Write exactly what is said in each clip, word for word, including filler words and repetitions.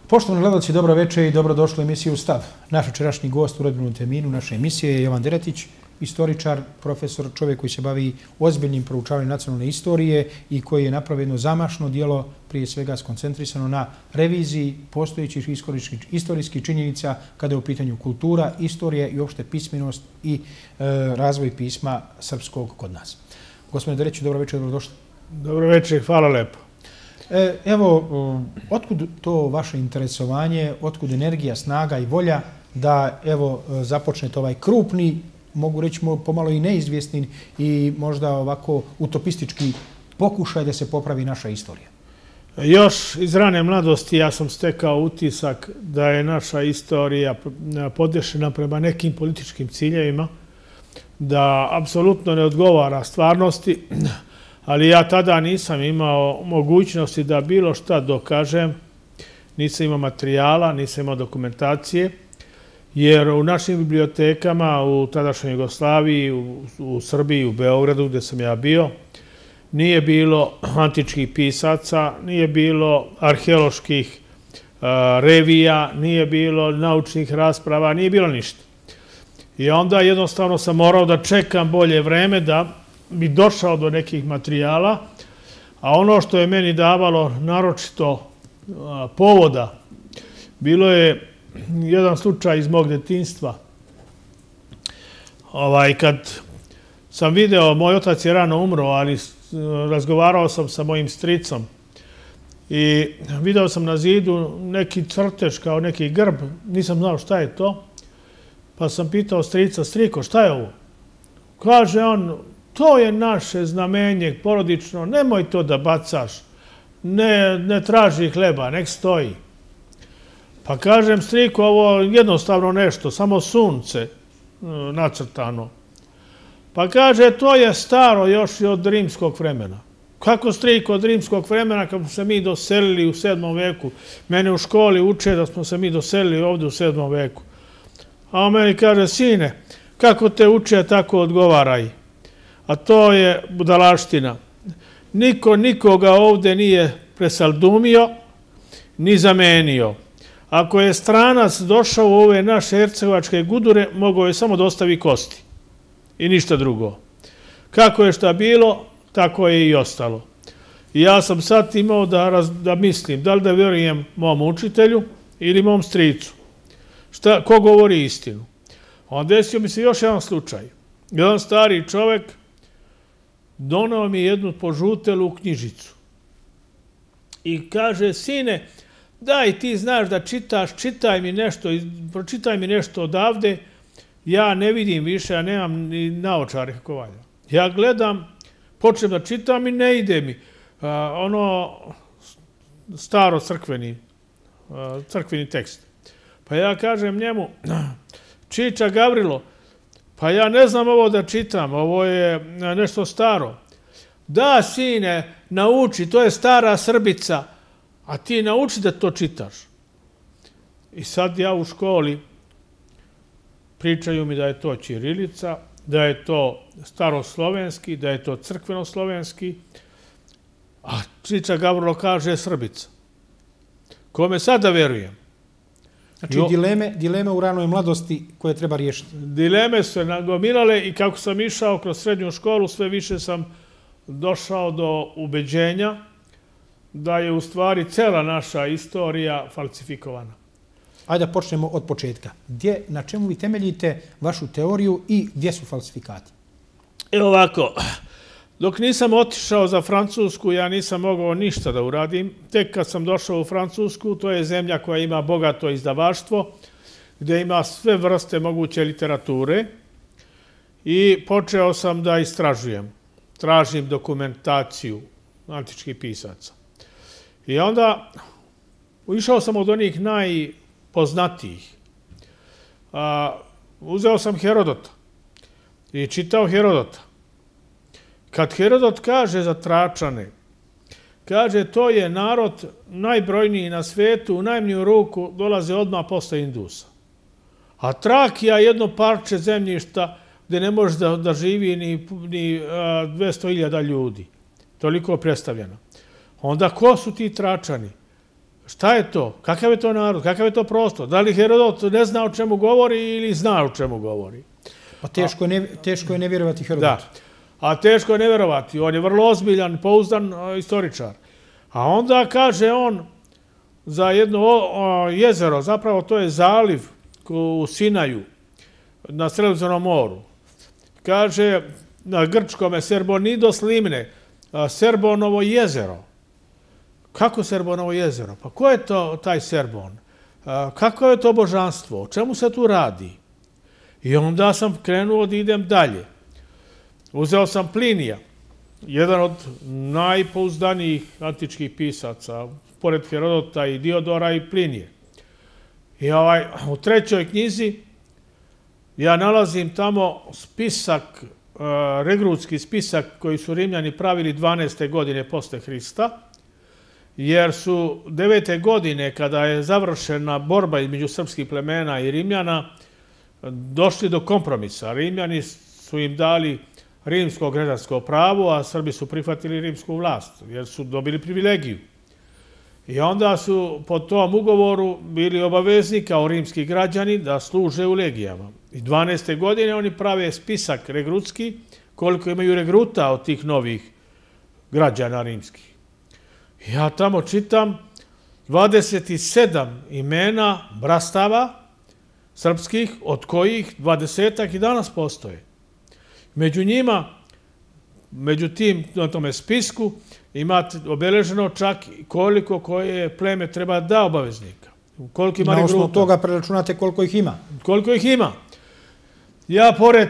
Poštovani gledalci, dobro večer i dobrodošli u emisiju Stav. Naš večerašnji gost u rodbinom terminu naše emisije je Jovan Deretić, istoričar, profesor, čovjek koji se bavi ozbiljnim proučavanjem nacionalne istorije i koji je napravio jedno zamašno djelo, prije svega skoncentrisano na reviziji postojećih istorijskih činjenica kada je u pitanju kultura, istorija i uopšte pismenost i e, razvoj pisma srpskog kod nas. Gospodine Deretiću, dobro večer, dobrodošli. Dobro večer, hvala lepo. E, evo, otkud to vaše interesovanje, otkud energija, snaga i volja da evo započnete ovaj krupni, mogu reći pomalo i neizvjesni i možda ovako utopistički pokušaj da se popravi naša istorija? Još iz rane mladosti ja sam stekao utisak da je naša istorija podešena prema nekim političkim ciljevima, da apsolutno ne odgovara stvarnosti, ali ja tada nisam imao mogućnosti da bilo šta dokažem, nisam imao materijala, nisam imao dokumentacije, jer u našim bibliotekama u tadašnjoj Jugoslaviji, u, u Srbiji, u Beogradu gdje sam ja bio, nije bilo antičkih pisaca, nije bilo arheoloških uh, revija, nije bilo naučnih rasprava, nije bilo ništa. I onda jednostavno sam morao da čekam bolje vreme da bi došao do nekih materijala, a ono što je meni davalo naročito uh, povoda, bilo je jedan slučaj iz mog detinjstva. Ovaj, kad sam video, moj otac je rano umro, ali razgovarao sam sa mojim stricom i video sam na zidu neki crtež kao neki grb, nisam znao šta je to, pa sam pitao strica, striko, šta je ovo? Kaže on, to je naše znamenje porodično, nemoj to da bacaš, ne, ne traži hleba, nek stoji. Pa kažem, striko, ovo je jednostavno nešto, samo sunce nacrtano. Pa kaže, to je staro još i od rimskog vremena. Kako striko od rimskog vremena kad smo se mi doselili u sedmom veku? Mene u školi uče da smo se mi doselili ovdje u sedmom veku. A on meni kaže, sine, kako te uče, tako odgovaraj. A to je budalaština. Niko nikoga ovdje nije presaldumio, ni zamenio. Ako je stranac došao u ove naše hercegovačke gudure, mogao je samo da ostavi kosti i ništa drugo. Kako je šta bilo, tako je i ostalo. I ja sam sad imao da, raz, da mislim, da li da vjerujem mom učitelju ili mom stricu. Šta, ko govori istinu? Onda desio mi se još jedan slučaj. Jedan stari čovjek donao mi jednu požutelu knjižicu i kaže, sine, daj, ti znaš da čitaš, čitaj mi nešto, pročitaj mi nešto odavde, ja ne vidim više, ja nemam ni naočare kako valja. Ja gledam, počnem da čitam i ne ide mi. A, ono staro crkveni, a, crkveni tekst. Pa ja kažem njemu, Čiča Gavrilo, pa ja ne znam ovo da čitam, ovo je nešto staro. Da, sine, nauči, to je stara Srbica, a ti nauči da to čitaš. I sad ja u školi pričaju mi da je to ćirilica, da je to staroslovenski, da je to crkvenoslovenski, a Čiča Gavrilo kaže Srbica. Kome sad da verujem? Znači, dileme, dileme u ranoj mladosti koje treba riješiti. Dileme su se nagomilale i kako sam išao kroz srednju školu, sve više sam došao do ubeđenja da je u stvari cela naša istorija falsifikovana. Ajde da počnemo od početka. Gdje, na čemu vi temeljite vašu teoriju i gdje su falsifikati? Evo ovako, dok nisam otišao za Francusku, ja nisam mogao ništa da uradim. Tek kad sam došao u Francusku, to je zemlja koja ima bogato izdavaštvo, gdje ima sve vrste moguće literature i počeo sam da istražujem. Tražim dokumentaciju antičkih pisaca. I onda išao sam od onih najpoznatijih. A, uzeo sam Herodota i čitao Herodota. Kad Herodot kaže za Tračane, kaže to je narod najbrojniji na svijetu, u najmanju ruku dolaze odmah posle Indusa. A Trakija je jedno parče zemljišta gdje ne može da, da živi ni, ni dvjesto hiljada ljudi. Toliko je predstavljeno. Onda ko su ti Tračani? Šta je to? Kakav je to narod? Kakav je to prostor? Da li Herodot ne zna o čemu govori ili zna o čemu govori? Pa teško, ne, teško je ne vjerovati Herodotu. Da, a teško je ne vjerovati. On je vrlo ozbiljan, pouzdan istoričar. A onda kaže on za jedno jezero, zapravo to je zaliv u Sinaju, na Sredozemnom moru. Kaže na grčkome Serbonidos limne, Serbonovo jezero. Kako Serbonovo jezero? Pa ko je to taj Serbon? Kako je to božanstvo? O čemu se tu radi? I onda sam krenuo da idem dalje. Uzeo sam Plinija, jedan od najpouzdanijih antičkih pisaca, pored Herodota i Diodora i Plinije. I ovaj, u trećoj knjizi ja nalazim tamo spisak, regrutski spisak koji su Rimljani pravili dvanaeste godine posle Hrista, jer su devete godine, kada je završena borba između srpskih plemena i Rimljana, došli do kompromisa. Rimljani su im dali rimsko građansko pravo, a Srbi su prihvatili rimsku vlast, jer su dobili privilegiju. I onda su po tom ugovoru bili obavezni kao rimski građani da služe u legijama. I dvanaeste godine oni prave spisak regrutski, koliko imaju regruta od tih novih građana rimskih. Ja tamo čitam dvadeset sedam imena brastava srpskih, od kojih dvadesetak i danas postoje. Među njima, među tim, na tome spisku, imate obeleženo čak koliko koje pleme treba da obaveznika. Koliko ima regruta. Na osnovu toga preračunate koliko ih ima. Koliko ih ima. Ja, pored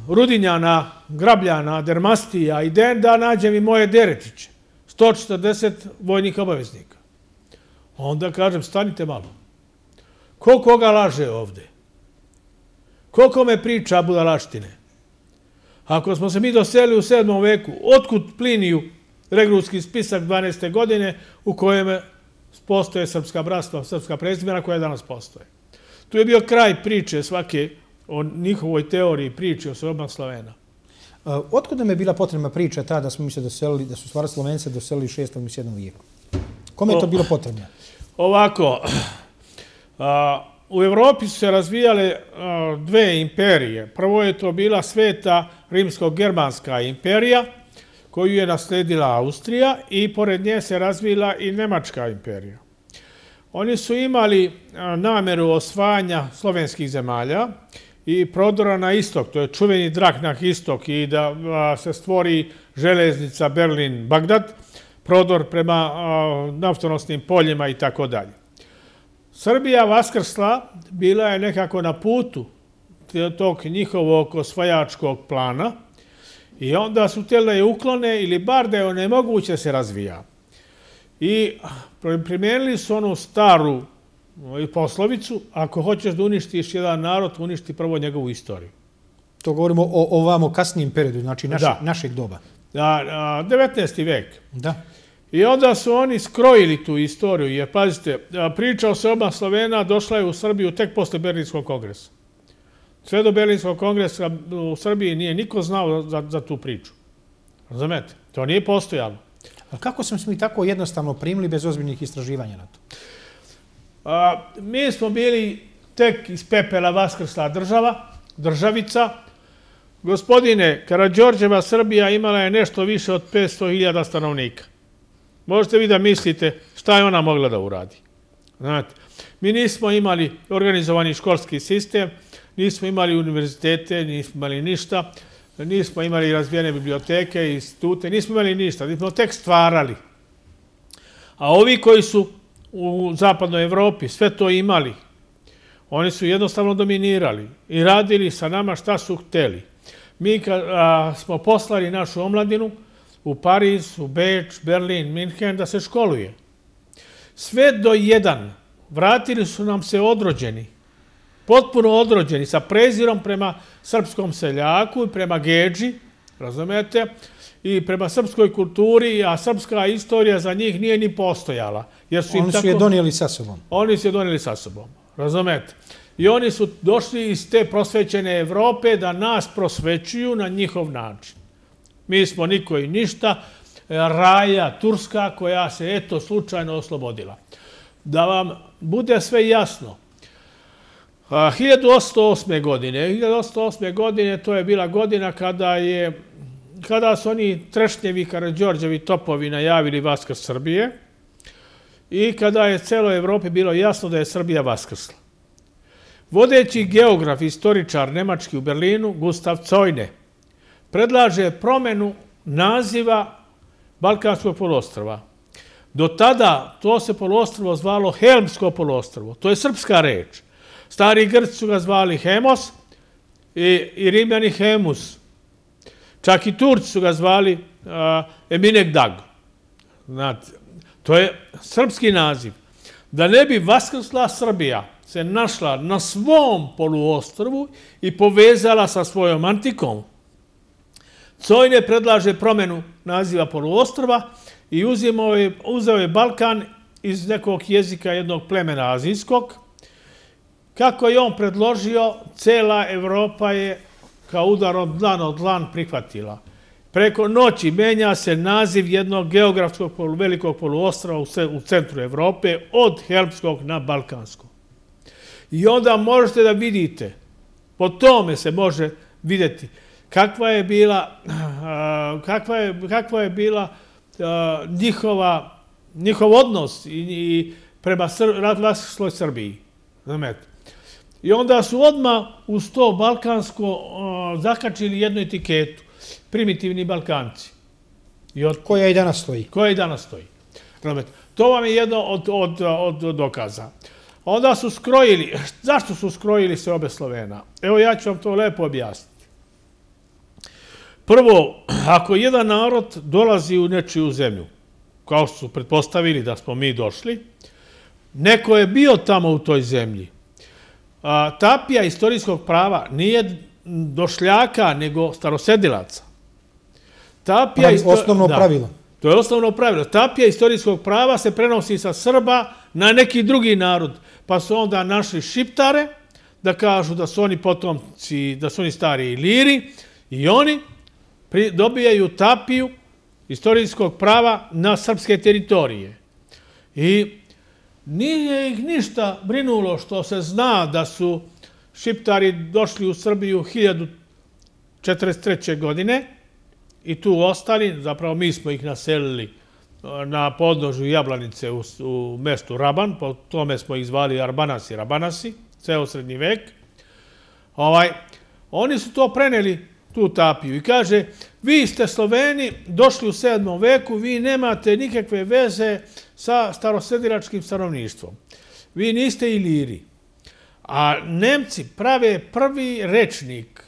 Rudinjana, Grabljana, Dermastija i Denda, nađem i moje Deretiće. sto četrdeset vojnih obaveznika. Onda kažem, stanite malo. Ko koga laže ovde? Ko kome priča budalaštine? Ako smo se mi doselili u sedmom veku, otkud Pliniju regrutski spisak dvanaeste godine u kojem postoje srpska bratstva, srpska prezimena koja danas postoje? Tu je bio kraj priče svake o njihovoj teoriji priče o Srbima Slavena. Otkud nam je bila potrebna priča ta da smo mi se doselili, da su stvari Slovence doselili u šestom i sedmom vijeku? Kome je to bilo potrebno? Ovako, u Evropi su se razvijale dve imperije. Prvo je to bila sveta rimsko-germanska imperija, koju je nasledila Austrija, i pored nje se razvila i Nemačka imperija. Oni su imali nameru osvajanja slovenskih zemalja i prodora na istok, to je čuveni drak na istok, i da se stvori železnica Berlin-Bagdad, prodor prema naftonosnim poljima i tako dalje. Srbija vaskrsla bila je nekako na putu tog njihovog osvajačkog plana i onda su htjeli da je uklone ili bar da je onemoguće se razvija. I primijenili su onu staru poslovicu, ako hoćeš da uništiš jedan narod, uništi prvo njegovu istoriju. To govorimo o ovamo kasnijem periodu, znači našeg doba. devetnaesti vek. Da. I onda su oni skrojili tu istoriju, jer, pazite, priča o Srbima Slovena došla je u Srbiju tek posle Berlinskog kongresa. Sve do Berlinskog kongresa u Srbiji nije niko znao za, za tu priču. Razumete? To nije postojalo. A kako smo mi tako jednostavno primili bez ozbiljnih istraživanja na to? A, mi smo bili tek iz pepela vaskrsla država, državica. Gospodine, Karađorđeva Srbija imala je nešto više od petsto hiljada stanovnika. Možete vi da mislite šta je ona mogla da uradi. Znate, mi nismo imali organizovani školski sistem, nismo imali univerzitete, nismo imali ništa, nismo imali razvijene biblioteke i institute, nismo imali ništa, nismo tek stvarali. A ovi koji su u zapadnoj Evropi sve to imali, oni su jednostavno dominirali i radili sa nama šta su hteli. Mi smo poslali našu omladinu u Pariz, u Beč, Berlin, Minhen da se školuje. Sve do jedan vratili su nam se odrođeni, potpuno odrođeni, sa prezirom prema srpskom seljaku i prema Gedži, razumete, i prema srpskoj kulturi, a srpska istorija za njih nije ni postojala. Oni su je donijeli sa sobom. Oni su je donijeli sa sobom, razumete. I oni su došli iz te prosvećene Evrope da nas prosvećuju na njihov način. Mi smo niko i ništa, raja Turska koja se eto slučajno oslobodila. Da vam bude sve jasno, hiljadu osamsto osme. godine, hiljadu osamsto osme. godine to je bila godina kada je kada su oni Trešnjevi, Karađorđevi topovi najavili Vaskrs Srbije i kada je celoj Evropi bilo jasno da je Srbija vaskrsla. Vodeći geograf, istoričar nemački u Berlinu, Gustav Zojne, predlaže promenu naziva Balkanskog poluostrva. Do tada to se poluostrvo zvalo Helmsko poluostrvo. To je srpska reč. Stari Grci su ga zvali Hemos i, i Rimljani Hemus. Čak i Turci su ga zvali uh, Eminegdag. Znate, to je srpski naziv. Da ne bi vaskrsla Srbija se našla na svom poluostrvu i povezala sa svojom antikom, Zojne predlaže promenu naziva poluostrva i uzimao je, uzeo je Balkan iz nekog jezika jednog plemena azijskog. Kako je on predložio, cela Evropa je kao udarom dlan od dlan prihvatila. Preko noći menja se naziv jednog geografskog polu, velikog poluostrva u centru Evrope od Helmskog na Balkanskog. I onda možete da vidite, po tome se može vidjeti kakva je bila, kakva je, kakva je bila njihova, njihov odnos i, i prema vaskrsloj Srbiji. Znamete. I onda su odmah uz to balkansko zakačili jednu etiketu. Primitivni Balkanci. I od... Koja i danas stoji. Koja i danas stoji. Znamete. To vam je jedno od, od, od dokaza. Onda su skrojili. Zašto su skrojili se obe Slovena? Evo ja ću vam to lepo objasniti. Prvo, ako jedan narod dolazi u nečiju zemlju, kao što su pretpostavili da smo mi došli, neko je bio tamo u toj zemlji. A, tapija istorijskog prava nije došljaka, nego starosedilaca. Tapija isto... Osnovno da, pravilo. To je osnovno pravilo. Tapija istorijskog prava se prenosi sa Srba na neki drugi narod. Pa su onda našli Šiptare da kažu da su oni potomci, da su oni stari Iliri i oni dobijaju tapiju istorijskog prava na srpske teritorije. I nije ih ništa brinulo što se zna da su Šiptari došli u Srbiju hiljadu četrdeset treće. godine i tu ostali, zapravo mi smo ih naselili na podnožju Jablanice u, u mestu Raban, po tome smo ih zvali Arbanasi, Rabanasi, ceo srednji vek. Ovaj, oni su to preneli, tu tapiju, i kaže, vi ste Sloveni, došli u sedmom veku, vi nemate nikakve veze sa starosedilačkim stanovništvom. Vi niste Iliri. A Nemci prave prvi rečnik,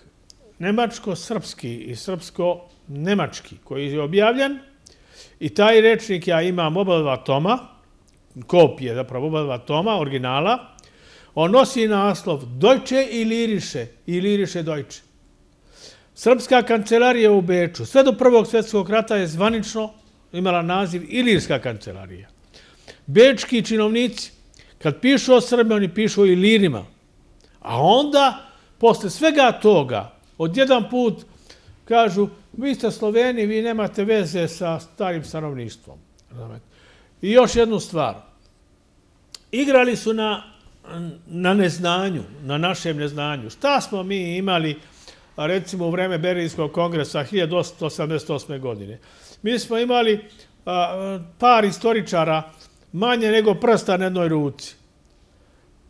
nemačko-srpski i srpsko-nemački, koji je objavljen, i taj rečnik ja imam oba dva toma, kopije, zapravo oba dva toma, originala, on nosi naslov Deutsche Ilirische, Ilirische Deutsche. Srpska kancelarija u Beču, sve do Prvog svjetskog rata je zvanično imala naziv Ilirska kancelarija. Bečki činovnici, kad pišu o Srbi, oni pišu o Ilirima. A onda, posle svega toga, odjedan put kažu, vi ste Sloveni, vi nemate veze sa starim stanovništvom. I još jednu stvar. Igrali su na, na neznanju, na našem neznanju. Šta smo mi imali, recimo u vreme Berlinskog kongresa hiljadu osamsto osamdeset osme. godine? Mi smo imali a, par istoričara manje nego prsta na jednoj ruci.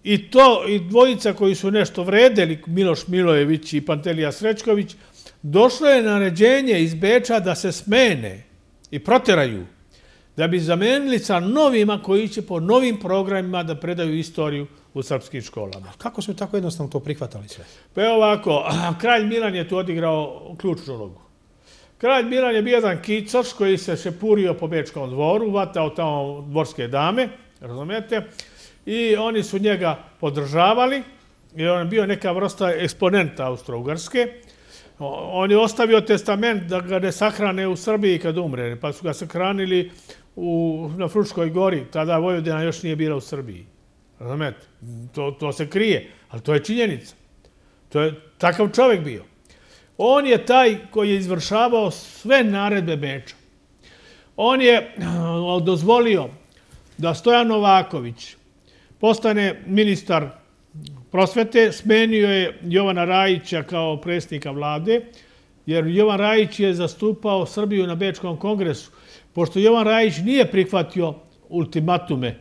I to, i dvojica koji su nešto vredeli, Miloš Milojević i Pantelija Srećković, došlo je naređenje iz Beča da se smene i proteraju, da bi zamenili sa novima koji će po novim programima da predaju istoriju u srpskim školama. Kako su tako jednostavno to prihvatali sve? Pa evo ovako, kralj Milan je tu odigrao ključnu ulogu. Kralj Milan je bio jedan kicoš koji se šepurio po Bečkom dvoru, vatao tamo dvorske dame, razumete, i oni su njega podržavali, jer on je bio neka vrsta eksponenta Austro-Ugarske. On je ostavio testament da ga ne sahrane u Srbiji kad umre, pa su ga sahranili u, na Fruškoj gori, tada Vojvodina još nije bila u Srbiji. Razumete? To, to se krije, ali to je činjenica. To je takav čovjek bio. On je taj koji je izvršavao sve naredbe Beča. On je dozvolio da Stojan Novaković postane ministar prosvete, smenio je Jovana Rajića kao predsjednika vlade, jer Jovan Rajić je zastupao Srbiju na Bečkom kongresu. Pošto Jovan Rajić nije prihvatio ultimatume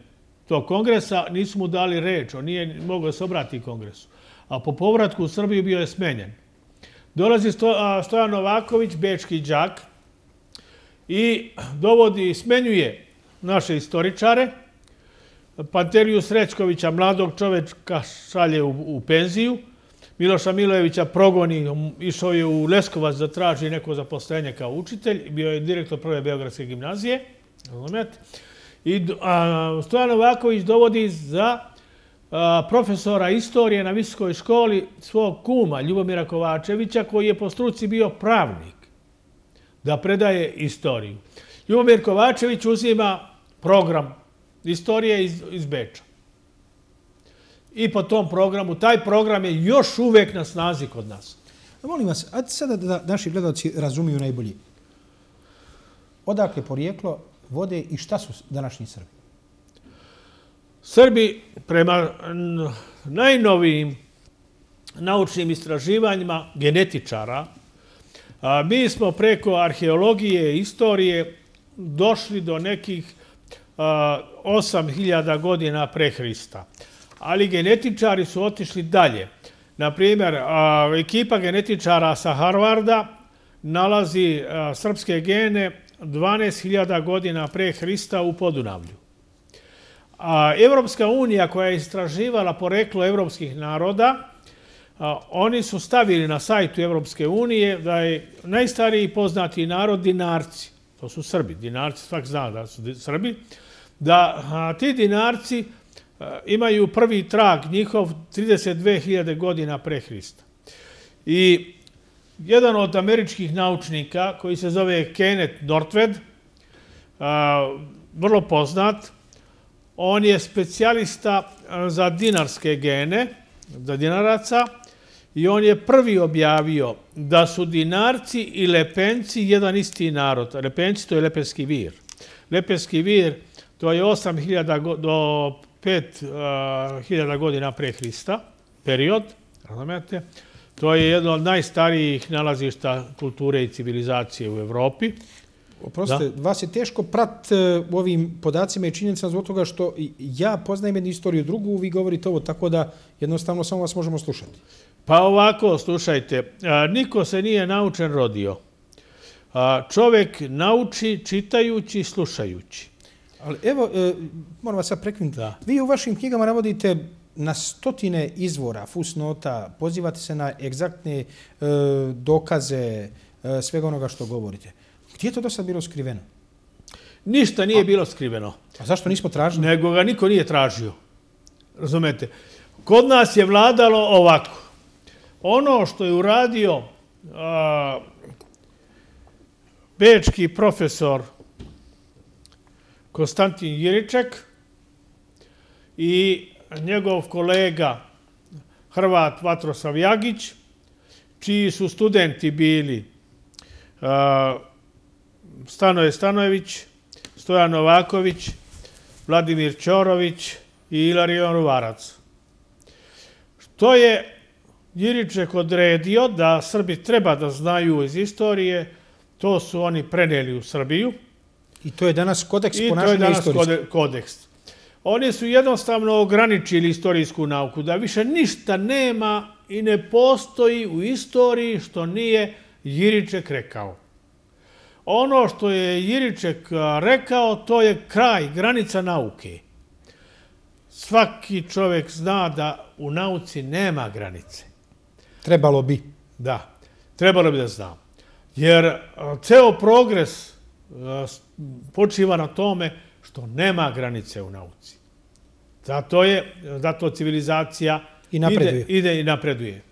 tog kongresa, nisu mu dali reč, on nije mogao da se obrati kongresu. A po povratku u Srbiju bio je smenjen. Dolazi Stojan Novaković, bečki đak, i dovodi, smenjuje naše istoričare. Panteriju Srećkovića, mladog čovečka, šalje u penziju. Miloša Milojevića progoni, išao je u Leskovac da traži neko zaposlenje kao učitelj. Bio je direktor prve Beogradske gimnazije. I Stojan Novaković dovodi za profesora istorije na visokoj školi svog kuma, Ljubomira Kovačevića, koji je po struci bio pravnik, da predaje istoriju. Ljubomir Kovačević uzima program istorije iz Beča. I po tom programu, taj program je još uvek na snazi kod nas. Molim vas, a sada da naši gledalci razumiju najbolji. Odakle porijeklo vode i šta su današnji Srbi? Srbi, prema najnovijim naučnim istraživanjima genetičara, mi smo preko arheologije i istorije došli do nekih osam hiljada godina pre Hrista. Ali genetičari su otišli dalje. Naprimjer, ekipa genetičara sa Harvarda nalazi srpske gene dvanaest hiljada godina pre Hrista u Podunavlju. A Evropska unija koja je istraživala poreklo evropskih naroda, oni su stavili na sajtu Evropske unije da je najstariji poznati narod Dinarci. To su Srbi. Dinarci, svak zna da su Srbi. Da ti Dinarci imaju prvi trag njihov trideset dve hiljade godina pre Hrista. I jedan od američkih naučnika koji se zove Kenneth Northwed, vrlo poznat, on je specijalista za dinarske gene, za dinaraca, i on je prvi objavio da su Dinarci i Lepenci jedan isti narod. Lepenci to je Lepenski vir. Lepenski vir to je osam hiljada do pet hiljada godina pre Hrista, period, razumete? To je jedno od najstarijih nalazišta kulture i civilizacije u Evropi. Oprostite, vas je teško prat u ovim podacima i činjenicama zbog toga što ja poznajem jednu istoriju drugu, vi govorite ovo, tako da jednostavno samo vas možemo slušati. Pa ovako, slušajte, niko se nije naučen rodio. Čovek nauči čitajući, slušajući. Ali evo, moram vas sad prekinuti. Vi u vašim knjigama navodite na stotine izvora, fusnota, pozivate se na egzaktne dokaze svega onoga što govorite. Gdje je to do sad bilo skriveno? Ništa nije bilo skriveno. A zašto nismo tražili? Nego ga niko nije tražio. Razumete? Kod nas je vladalo ovako. Ono što je uradio bečki profesor Konstantin Jiriček i njegov kolega Hrvat Vatroslav Jagić, čiji su studenti bili Stanoje Stanojević, Stojan Novaković, Vladimir Ćorović i Ilarion Ruvarac. Što je Jiriček odredio da Srbi treba da znaju iz istorije, to su oni preneli u Srbiju. I to je danas kodeks ponašanja istorijskog. I to je danas kodeks. Oni su jednostavno ograničili istorijsku nauku, da više ništa nema i ne postoji u istoriji što nije Jiriček rekao. Ono što je Jiriček rekao, to je kraj, granica nauke. Svaki čovjek zna da u nauci nema granice. Trebalo bi. Da, trebalo bi da zna. Jer ceo progres počiva na tome što nema granice u nauci. Zato je, zato civilizacija ide i napreduje.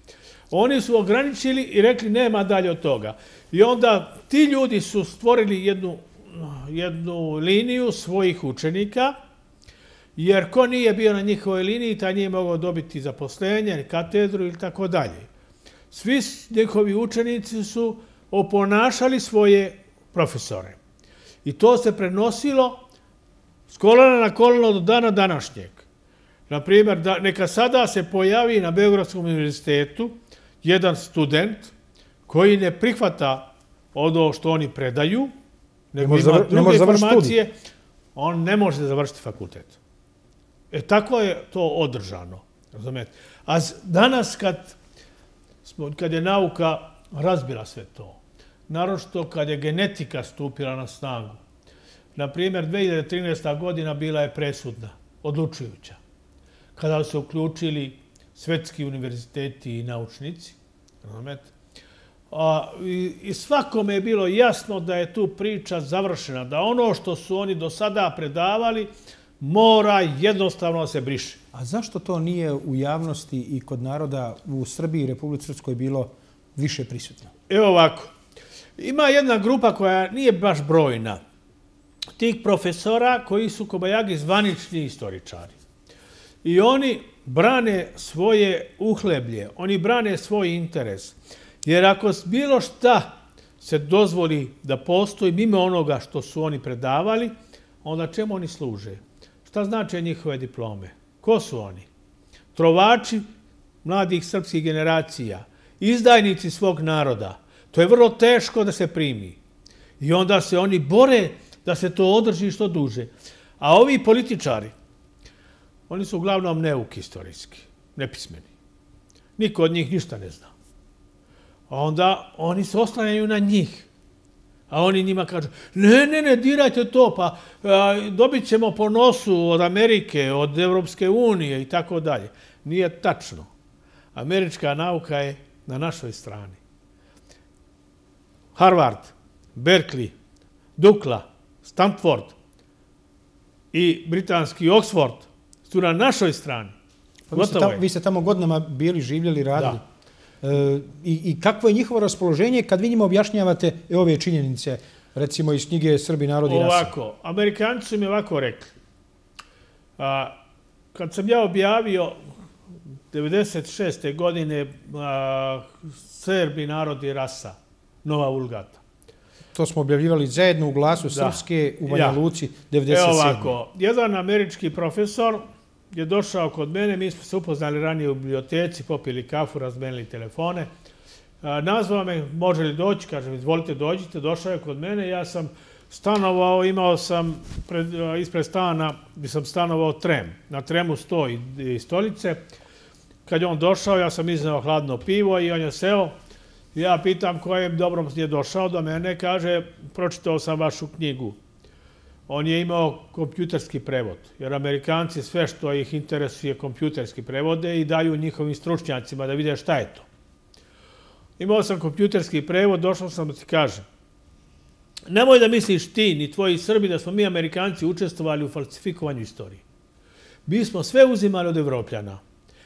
Oni su ograničili i rekli nema dalje od toga. I onda ti ljudi su stvorili jednu, jednu liniju svojih učenika, jer ko nije bio na njihovoj liniji, taj nije mogao dobiti zaposlenje, katedru ili tako dalje. Svi njihovi učenici su oponašali svoje profesore. I to se prenosilo s kolena na koleno do dana današnjeg. Naprimjer, neka sada se pojavi na Beogradskom univerzitetu jedan student koji ne prihvata ono što oni predaju, nego ima druge informacije, on ne može završiti fakultet. E, tako je to održano. Razumete? A danas kad, smo, kad je nauka razbila sve to, naročito kad je genetika stupila na snagu, na primjer, dve hiljade trinaesta. godina bila je presudna, odlučujuća, kada su se uključili svetski univerziteti i naučnici. Razumete? A, i, I svakome je bilo jasno da je tu priča završena, da ono što su oni do sada predavali mora jednostavno se briše. A zašto to nije u javnosti i kod naroda u Srbiji i Republici Srpskoj bilo više prisutno? Evo ovako. Ima jedna grupa koja nije baš brojna. Tih profesora koji su kobajagi zvanični istoričari. I oni brane svoje uhleblje, oni brane svoj interes. Jer ako bilo šta se dozvoli da postoji mimo onoga što su oni predavali, onda čemu oni služe? Šta znače njihove diplome? Ko su oni? Trovači mladih srpskih generacija, izdajnici svog naroda. To je vrlo teško da se primi. I onda se oni bore da se to održi što duže. A ovi političari, oni su uglavnom neuki istorijski, nepismeni. Niko od njih ništa ne zna. A onda oni se oslanjaju na njih. A oni njima kažu, ne, ne, ne, dirajte to, pa a, dobit ćemo po nosu od Amerike, od Evropske unije i tako dalje. Nije tačno. Američka nauka je na našoj strani. Harvard, Berkeley, Dukla, Stanford i britanski Oxford su na našoj strani. Pa vi, ste tamo, vi ste tamo godinama bili, živjeli, radili. Da. E, i, I kakvo je njihovo raspoloženje kad vi njima objašnjavate ove činjenice, recimo iz knjige Srbi, narod i rasa? Ovako, Amerikanci su mi ovako rekli. A, kad sam ja objavio devedeset šeste. godine a, Srbi, narod i rasa, Nova Vulgata. To smo objavljivali zajedno u Glasu Srpske u Banja Luci devedeset sedme. Evo ovako, jedan američki profesor je došao kod mene, mi smo se upoznali ranije u biblioteci, popili kafu, razmenili telefone. Nazvao me, može li doći, kažem, izvolite dođite, došao je kod mene, ja sam stanovao, imao sam pred, ispred stana, gdje sam stanovao trem. Na tremu stoji i stolice. Kad je on došao, ja sam izneo hladno pivo i on je seo. Ja pitam kojem dobrom je došao do mene, kaže, pročitao sam vašu knjigu. On je imao kompjuterski prevod, jer Amerikanci sve što ih interesuje kompjuterski prevode i daju njihovim stručnjacima da vide šta je to. Imao sam kompjuterski prevod, došao sam da ti kažem. Nemoj da misliš ti, ni tvoji Srbi, da smo mi Amerikanci učestvovali u falsifikovanju istorije. Mi smo sve uzimali od Evropljana.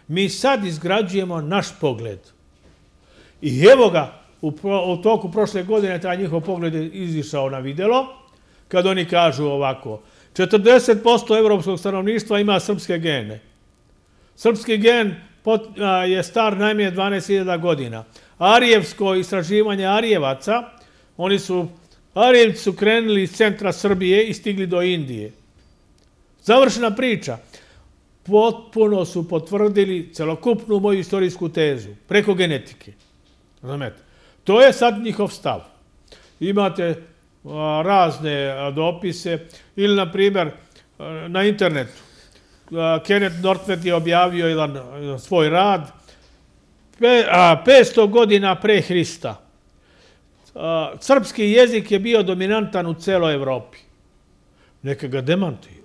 Mi sad izgrađujemo naš pogled. I evo ga, u, pro, u toku prošle godine taj njihov pogled je izišao na videlo, kad oni kažu ovako, četrdeset posto evropskog stanovništva ima srpske gene. Srpski gen pot, a, je star najmanje dvanaest hiljada godina. Arijevsko istraživanje Arijevaca, oni su, Arijevci su krenuli iz centra Srbije i stigli do Indije. Završena priča. Potpuno su potvrdili celokupnu moju istorijsku tezu, preko genetike. Razumete? To je sad njihov stav. Imate a, razne a, dopise, ili, na primjer, a, na internetu. A, Kenneth Northwet je objavio jedan a, svoj rad, Pe, a, petsto godina pre Hrista. A, srpski jezik je bio dominantan u celoj Evropi. Neka ga demantuju,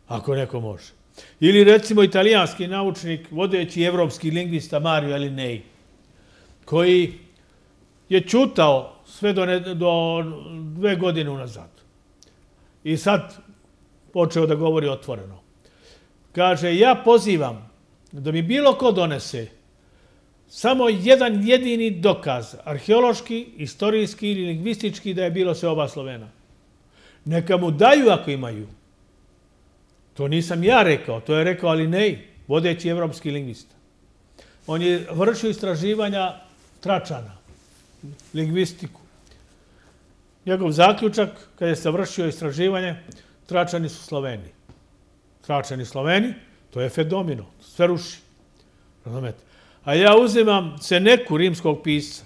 ako neko može. Ili, recimo, italijanski naučnik, vodeći evropski lingvista Mario Alinei, koji je čutao sve do, ne, do dve godine unazad. I sad počeo da govori otvoreno. Kaže, ja pozivam da mi bilo ko donese samo jedan jedini dokaz, arheološki, istorijski ili lingvistički, da je bilo sve oba Slovena. Neka mu daju ako imaju. To nisam ja rekao, to je rekao Alinei, vodeći evropski lingvista. On je vršio istraživanja Tračana, lingvistiku. njegov zaključak, kada je se vršio istraživanje, Tračani su Sloveni. Tračani Sloveni, to je fenomeno, sve ruši. Razumete? A ja uzimam Seneku, rimskog pisca,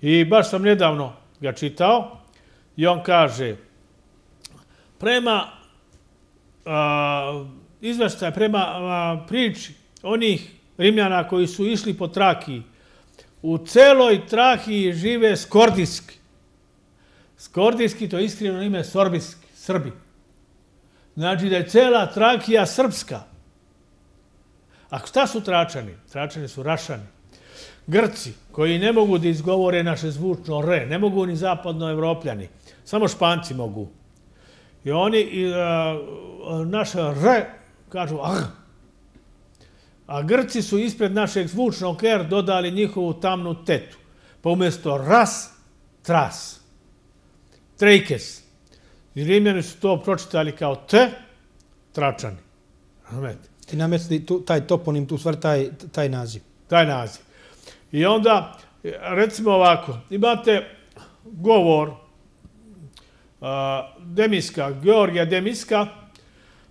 i baš sam nedavno ga čitao, i on kaže, prema izveštaj, prema priči onih Rimljana koji su išli po Trakiji, u celoj Trakiji žive skordijski. Skordijski, to je iskrivno ime sorbijski, Srbi. Znači da je cela Trakija srpska. A šta su Tračani? Tračani su Rašani. Grci, koji ne mogu da izgovore naše zvučno re, ne mogu ni zapadnoevropljani, samo Španci mogu. I oni naše re kažu ah. A Grci su ispred našeg zvučnog er dodali njihovu tamnu tetu. Pa umjesto ras, tras. Trejkes. I Rimljani su to pročitali kao te, Tračani. Razumete? I nametili taj toponim, tu stvar, taj, taj naziv. Taj naziv. I onda, recimo ovako, imate govor uh, Demiska, Georgija Demiska,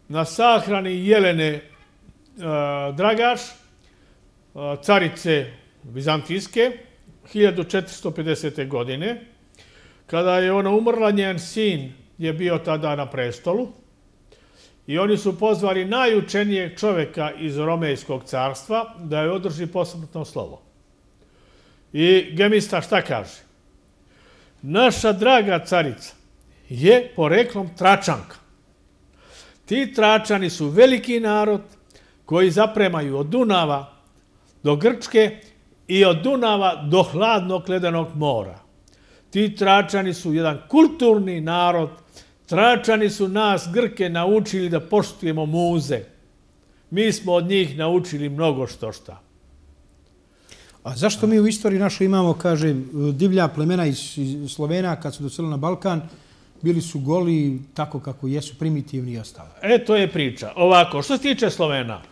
na sahrani Jelene uh, Dragaš, uh, carice Bizantijske, hiljadu četiristo pedesete. godine. Kada je ona umrla, njen sin je bio tada na prestolu i oni su pozvali najučenijeg čoveka iz Romejskog carstva da je održi posmrtno slovo. I Gemista šta kaže? Naša draga carica je poreklom Tračanka. Ti Tračani su veliki narod koji zapremaju od Dunava do Grčke i od Dunava do hladnog ledenog mora. Ti Tračani su jedan kulturni narod. Tračani su nas, Grke, naučili da poštujemo muze. Mi smo od njih naučili mnogo što šta. A zašto mi u istoriji našoj imamo, kaže, divlja plemena iz Slovena, kad su doselili na Balkan, bili su goli tako kako jesu, primitivni i ostalo? E, to je priča. Ovako, što se tiče Slovena,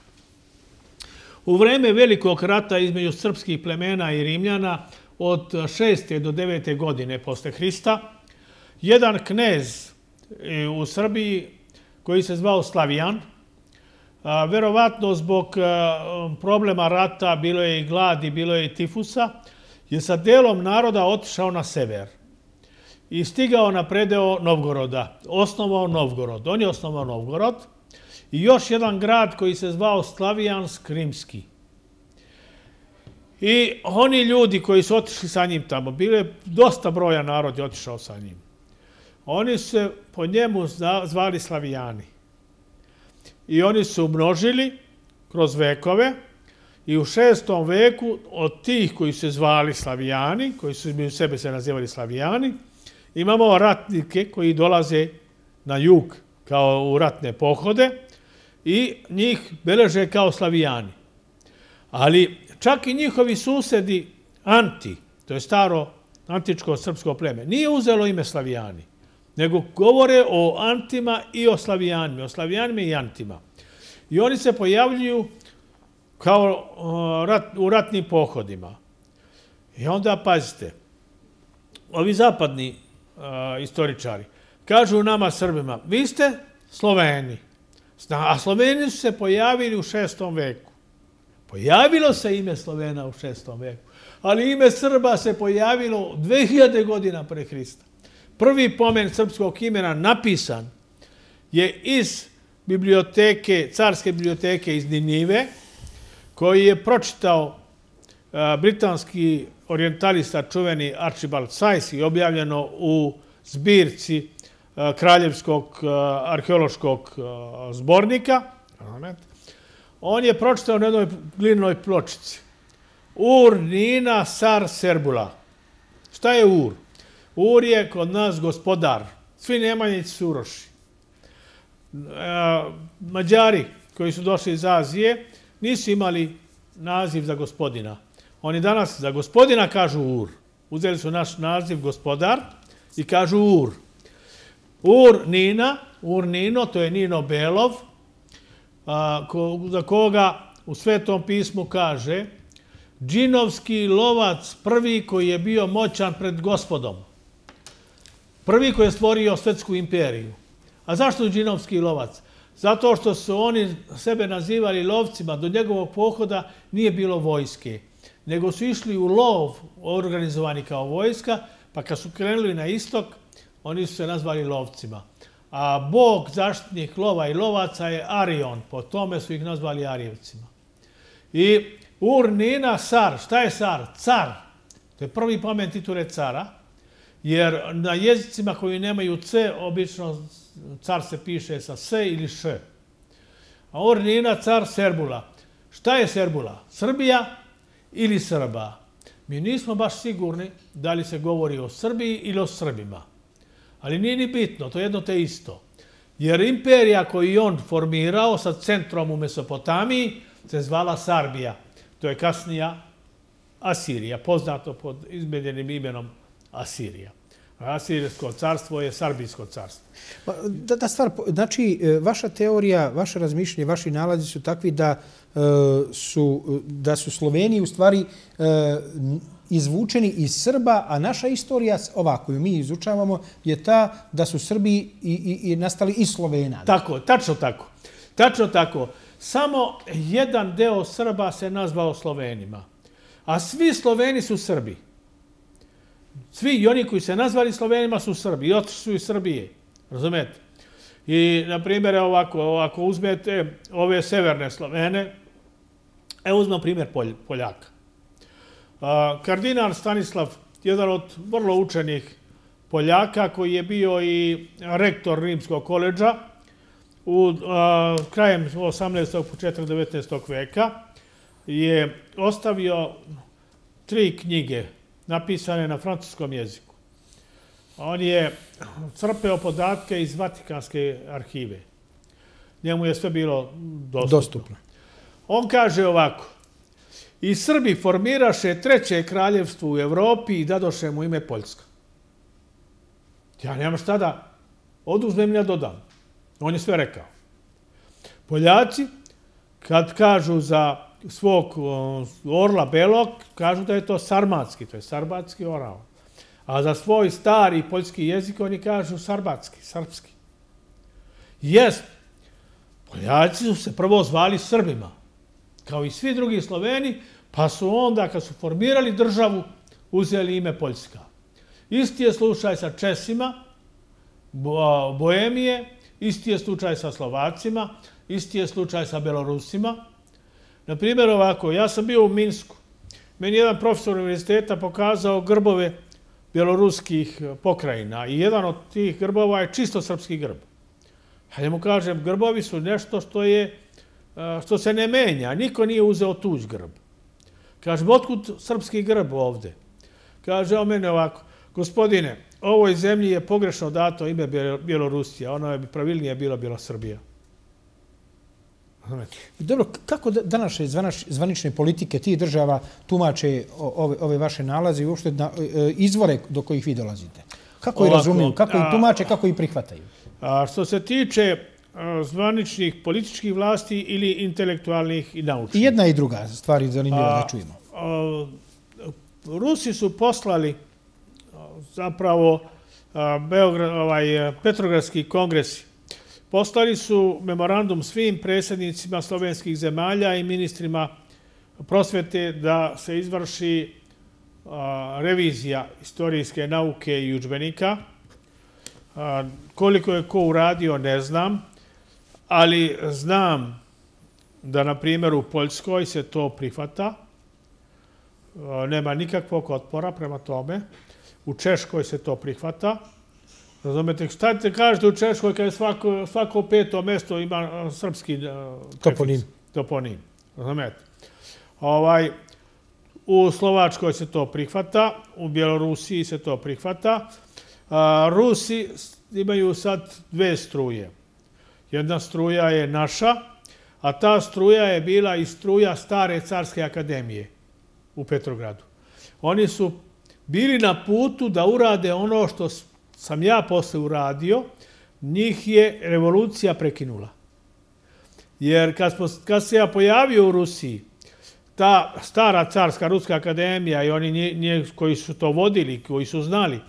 u vreme velikog rata između srpskih plemena i Rimljana od šeste do devete godine posle Hrista, jedan knez u Srbiji koji se zvao Slavijan, verovatno zbog problema rata, bilo je i gladi, bilo je i tifusa, je sa delom naroda otišao na sever i stigao na predeo Novgoroda, osnovao Novgorod. On je osnovao Novgorod i još jedan grad koji se zvao Slavijansk Rimski. I oni ljudi koji su otišli sa njim tamo, bilo je dosta broja narod je otišao sa njim. Oni su se po njemu zvali Slavijani. I oni su umnožili kroz vekove i u šestom veku od tih koji su se zvali Slavijani, koji su u sebe se nazivali Slavijani, imamo ratnike koji dolaze na jug kao u ratne pohode i njih beleže kao Slavijani. Ali čak i njihovi susedi Anti, to je staro antičko srpsko pleme, nije uzelo ime Slavijani, nego govore o Antima i o Slavijanima, o Slavijanima i Antima. I oni se pojavljuju kao u ratnim pohodima. I onda, pazite, ovi zapadni istoričari kažu nama Srbima, vi ste Sloveni, a Sloveni su se pojavili u šestom veku. Pojavilo se ime Slovena u šestom veku, ali ime Srba se pojavilo dve hiljade godina pre Hrista. Prvi pomen srpskog imena napisan je iz biblioteke, carske biblioteke iz Ninive, koji je pročitao britanski orijentalista čuveni Archibald Sayce i objavljeno u zbirci Kraljevskog arheološkog zbornika. On je pročitao na jednoj glinenoj pločici. Ur Nina Sar Serbula. Šta je Ur? Ur je kod nas gospodar. Svi Nemanjići su Uroši. Mađari koji su došli iz Azije nisu imali naziv za gospodina. Oni danas za gospodina kažu Ur. Uzeli su naš naziv gospodar i kažu Ur. Ur Nina, Ur Nino, to je Nino Belov, za koga u Svetom pismu kaže džinovski lovac prvi koji je bio moćan pred gospodom. Prvi koji je stvorio svetsku imperiju. A zašto džinovski lovac? Zato što su oni sebe nazivali lovcima. Do njegovog pohoda nije bilo vojske, nego su išli u lov, organizovani kao vojska, pa kad su krenuli na istok, oni su se nazvali lovcima. A bog, zaštitnik lova i lovaca je Arion, po tome su ih nazvali Arijevcima. I Ur-Nina, Sar. Šta je Sar? Car. To je prvi pomen titule cara, jer na jezicima koji nemaju C, obično car se piše sa S ili Š. A Ur-Nina, car Serbula. Šta je Serbula? Srbija ili Srba? Mi nismo baš sigurni da li se govori o Srbiji ili o Srbima. Ali nije ni bitno, to je jedno te isto. Jer imperija koju je on formirao sa centrom u Mesopotamiji se zvala Sarbija. To je kasnija Asirija, poznato pod izmijenjenim imenom Asirija. Asirijsko carstvo je Sarbijsko carstvo. Da, da stvar, znači, vaša teorija, vaše razmišljenje, vaši nalazi su takvi da, su, da su Sloveni u stvari izvučeni iz Srba, a naša istorija, ova koju mi izučavamo, je ta da su Srbi i, i, i nastali iz Slovena. Tako, tačno tako. Tačno tako. Samo jedan deo Srba se nazvao Slovenima. A svi Sloveni su Srbi. Svi i oni koji se nazvali Slovenima su Srbi. I otišli su iz Srbije. Razumete? I, na primjer, ovako, ako uzmete ove severne Slovene, evo uzmem primjer Poljaka. Kardinal Stanislav, jedan od vrlo učenih Poljaka, koji je bio i rektor Rimskog koledža u krajem osamnaestog. početak devetnaestog. veka, je ostavio tri knjige napisane na francuskom jeziku. On je crpeo podatke iz Vatikanske arhive. Njemu je sve bilo dostupno. Dostupno. On kaže ovako: i Srbi formiraše treće kraljevstvo u Evropi i dadoše mu ime Poljska. Ja nemam šta da oduzmem i ja dodam. On je sve rekao. Poljaci, kad kažu za svog orla belog, kažu da je to sarmatski, to je sarbatski orao. A za svoj stari poljski jezik oni kažu sarbatski, srpski. Jest, Poljaci su se prvo zvali Srbima, kao i svi drugi Sloveni, pa su onda, kad su formirali državu, uzeli ime Poljska. Isti je slučaj sa Česima, Boemije, isti je slučaj sa Slovacima, isti je slučaj sa Belorusima. Na primjer, ovako, ja sam bio u Minsku. Meni jedan profesor univerziteta pokazao grbove bjeloruskih pokrajina i jedan od tih grbova je čisto srpski grb. A ja mu kažem, grbovi su nešto što je, što se ne menja. Niko nije uzeo tuđ grb. Kažem, otkud srpski grb ovde? Kaže on mene ovako: gospodine, ovoj zemlji je pogrešno dato ime Bjelorusija, ono je pravilnije bilo Bjelosrbija. Dobro, kako današnje zvanične politike tih država tumače ove, ove vaše nalaze i uopšte izvore do kojih vi dolazite? Kako ih razumiju, kako ih tumače, kako ih prihvataju? A što se tiče zvaničnih političkih vlasti ili intelektualnih i naučnih? I jedna i druga stvar je zanimljiva da čujemo. Rusi su poslali zapravo Beograd, ovaj, Petrogradski kongresi. Poslali su memorandum svim predsjednicima slovenskih zemalja i ministrima prosvete da se izvrši revizija istorijske nauke i udžbenika. Koliko je ko uradio, ne znam, ali znam da, na primjer, u Poljskoj se to prihvata. Nema nikakvog otpora prema tome. U Češkoj se to prihvata. Razumete, šta te kažete u Češkoj kada svako, svako peto mesto ima srpski toponim. toponim. Razumete? Ovaj, u Slovačkoj se to prihvata, u Bjelorusiji se to prihvata. A, Rusi imaju sad dve struje. Jedna struja je naša, a ta struja je bila i struja stare carske akademije u Petrogradu. Oni su bili na putu da urade ono što sam ja posle uradio, njih je revolucija prekinula. Jer kad, smo, kad se ja pojavio u Rusiji, ta stara carska ruska akademija i oni nje, nje, koji su to vodili, koji su znali,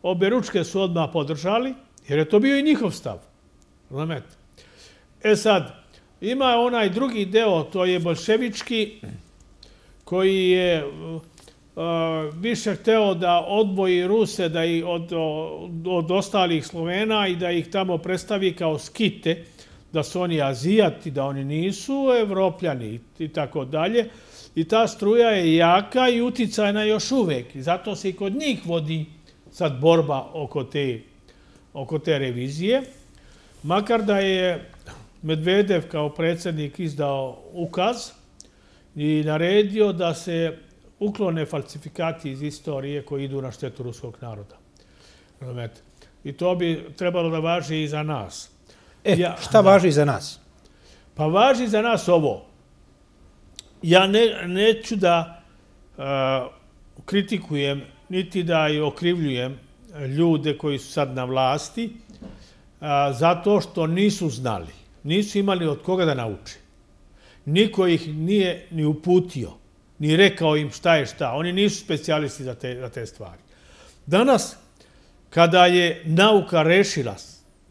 objeručke su odmah podržali, jer je to bio i njihov stav. Razumete? E sad, ima onaj drugi deo, to je bolševički, koji je više hteo da odvoji Ruse da i od, od ostalih Slovena i da ih tamo predstavi kao skite, da su oni Azijati, da oni nisu Evropljani i tako dalje. I ta struja je jaka i uticajna još uvek. I zato se i kod njih vodi sad borba oko te, oko te revizije. Makar da je Medvedev kao predsjednik izdao ukaz i naredio da se uklone falsifikati iz istorije koji idu na štetu ruskog naroda. I to bi trebalo da važi i za nas. E, ja, šta važi za nas? Pa važi za nas ovo. Ja ne, neću da uh, kritikujem, niti da i okrivljujem ljude koji su sad na vlasti, uh, zato što nisu znali, nisu imali od koga da nauče. Niko ih nije ni uputio, ni rekao im šta je šta. Oni nisu specijalisti za te, za te stvari. Danas, kada je nauka rešila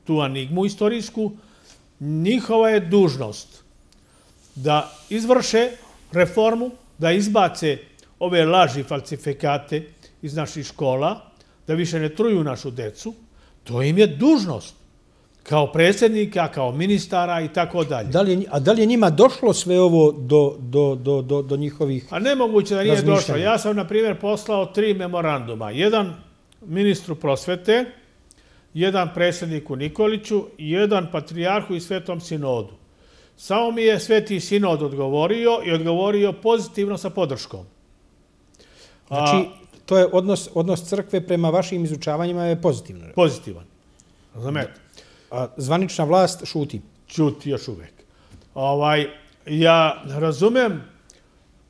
tu enigmu istorijsku, njihova je dužnost da izvrše reformu, da izbace ove laži, falsifikate iz naših škola, da više ne truju našu decu. To im je dužnost. Kao predsjednika, kao ministara i tako dalje. Da li je, a da li je njima došlo sve ovo do, do, do, do, do njihovih A nemoguće da nije razmišljanja? došlo. Ja sam, na primjer, poslao tri memoranduma. Jedan ministru prosvete, jedan predsjedniku Nikoliću, jedan patrijarhu i Svetom sinodu. Samo mi je Sveti sinod odgovorio i odgovorio pozitivno sa podrškom. Znači, to je odnos, odnos crkve prema vašim izučavanjima je pozitivno. Pozitivan. Razumete? A zvanična vlast šuti? Čuti još uvek. Ovaj, ja razumem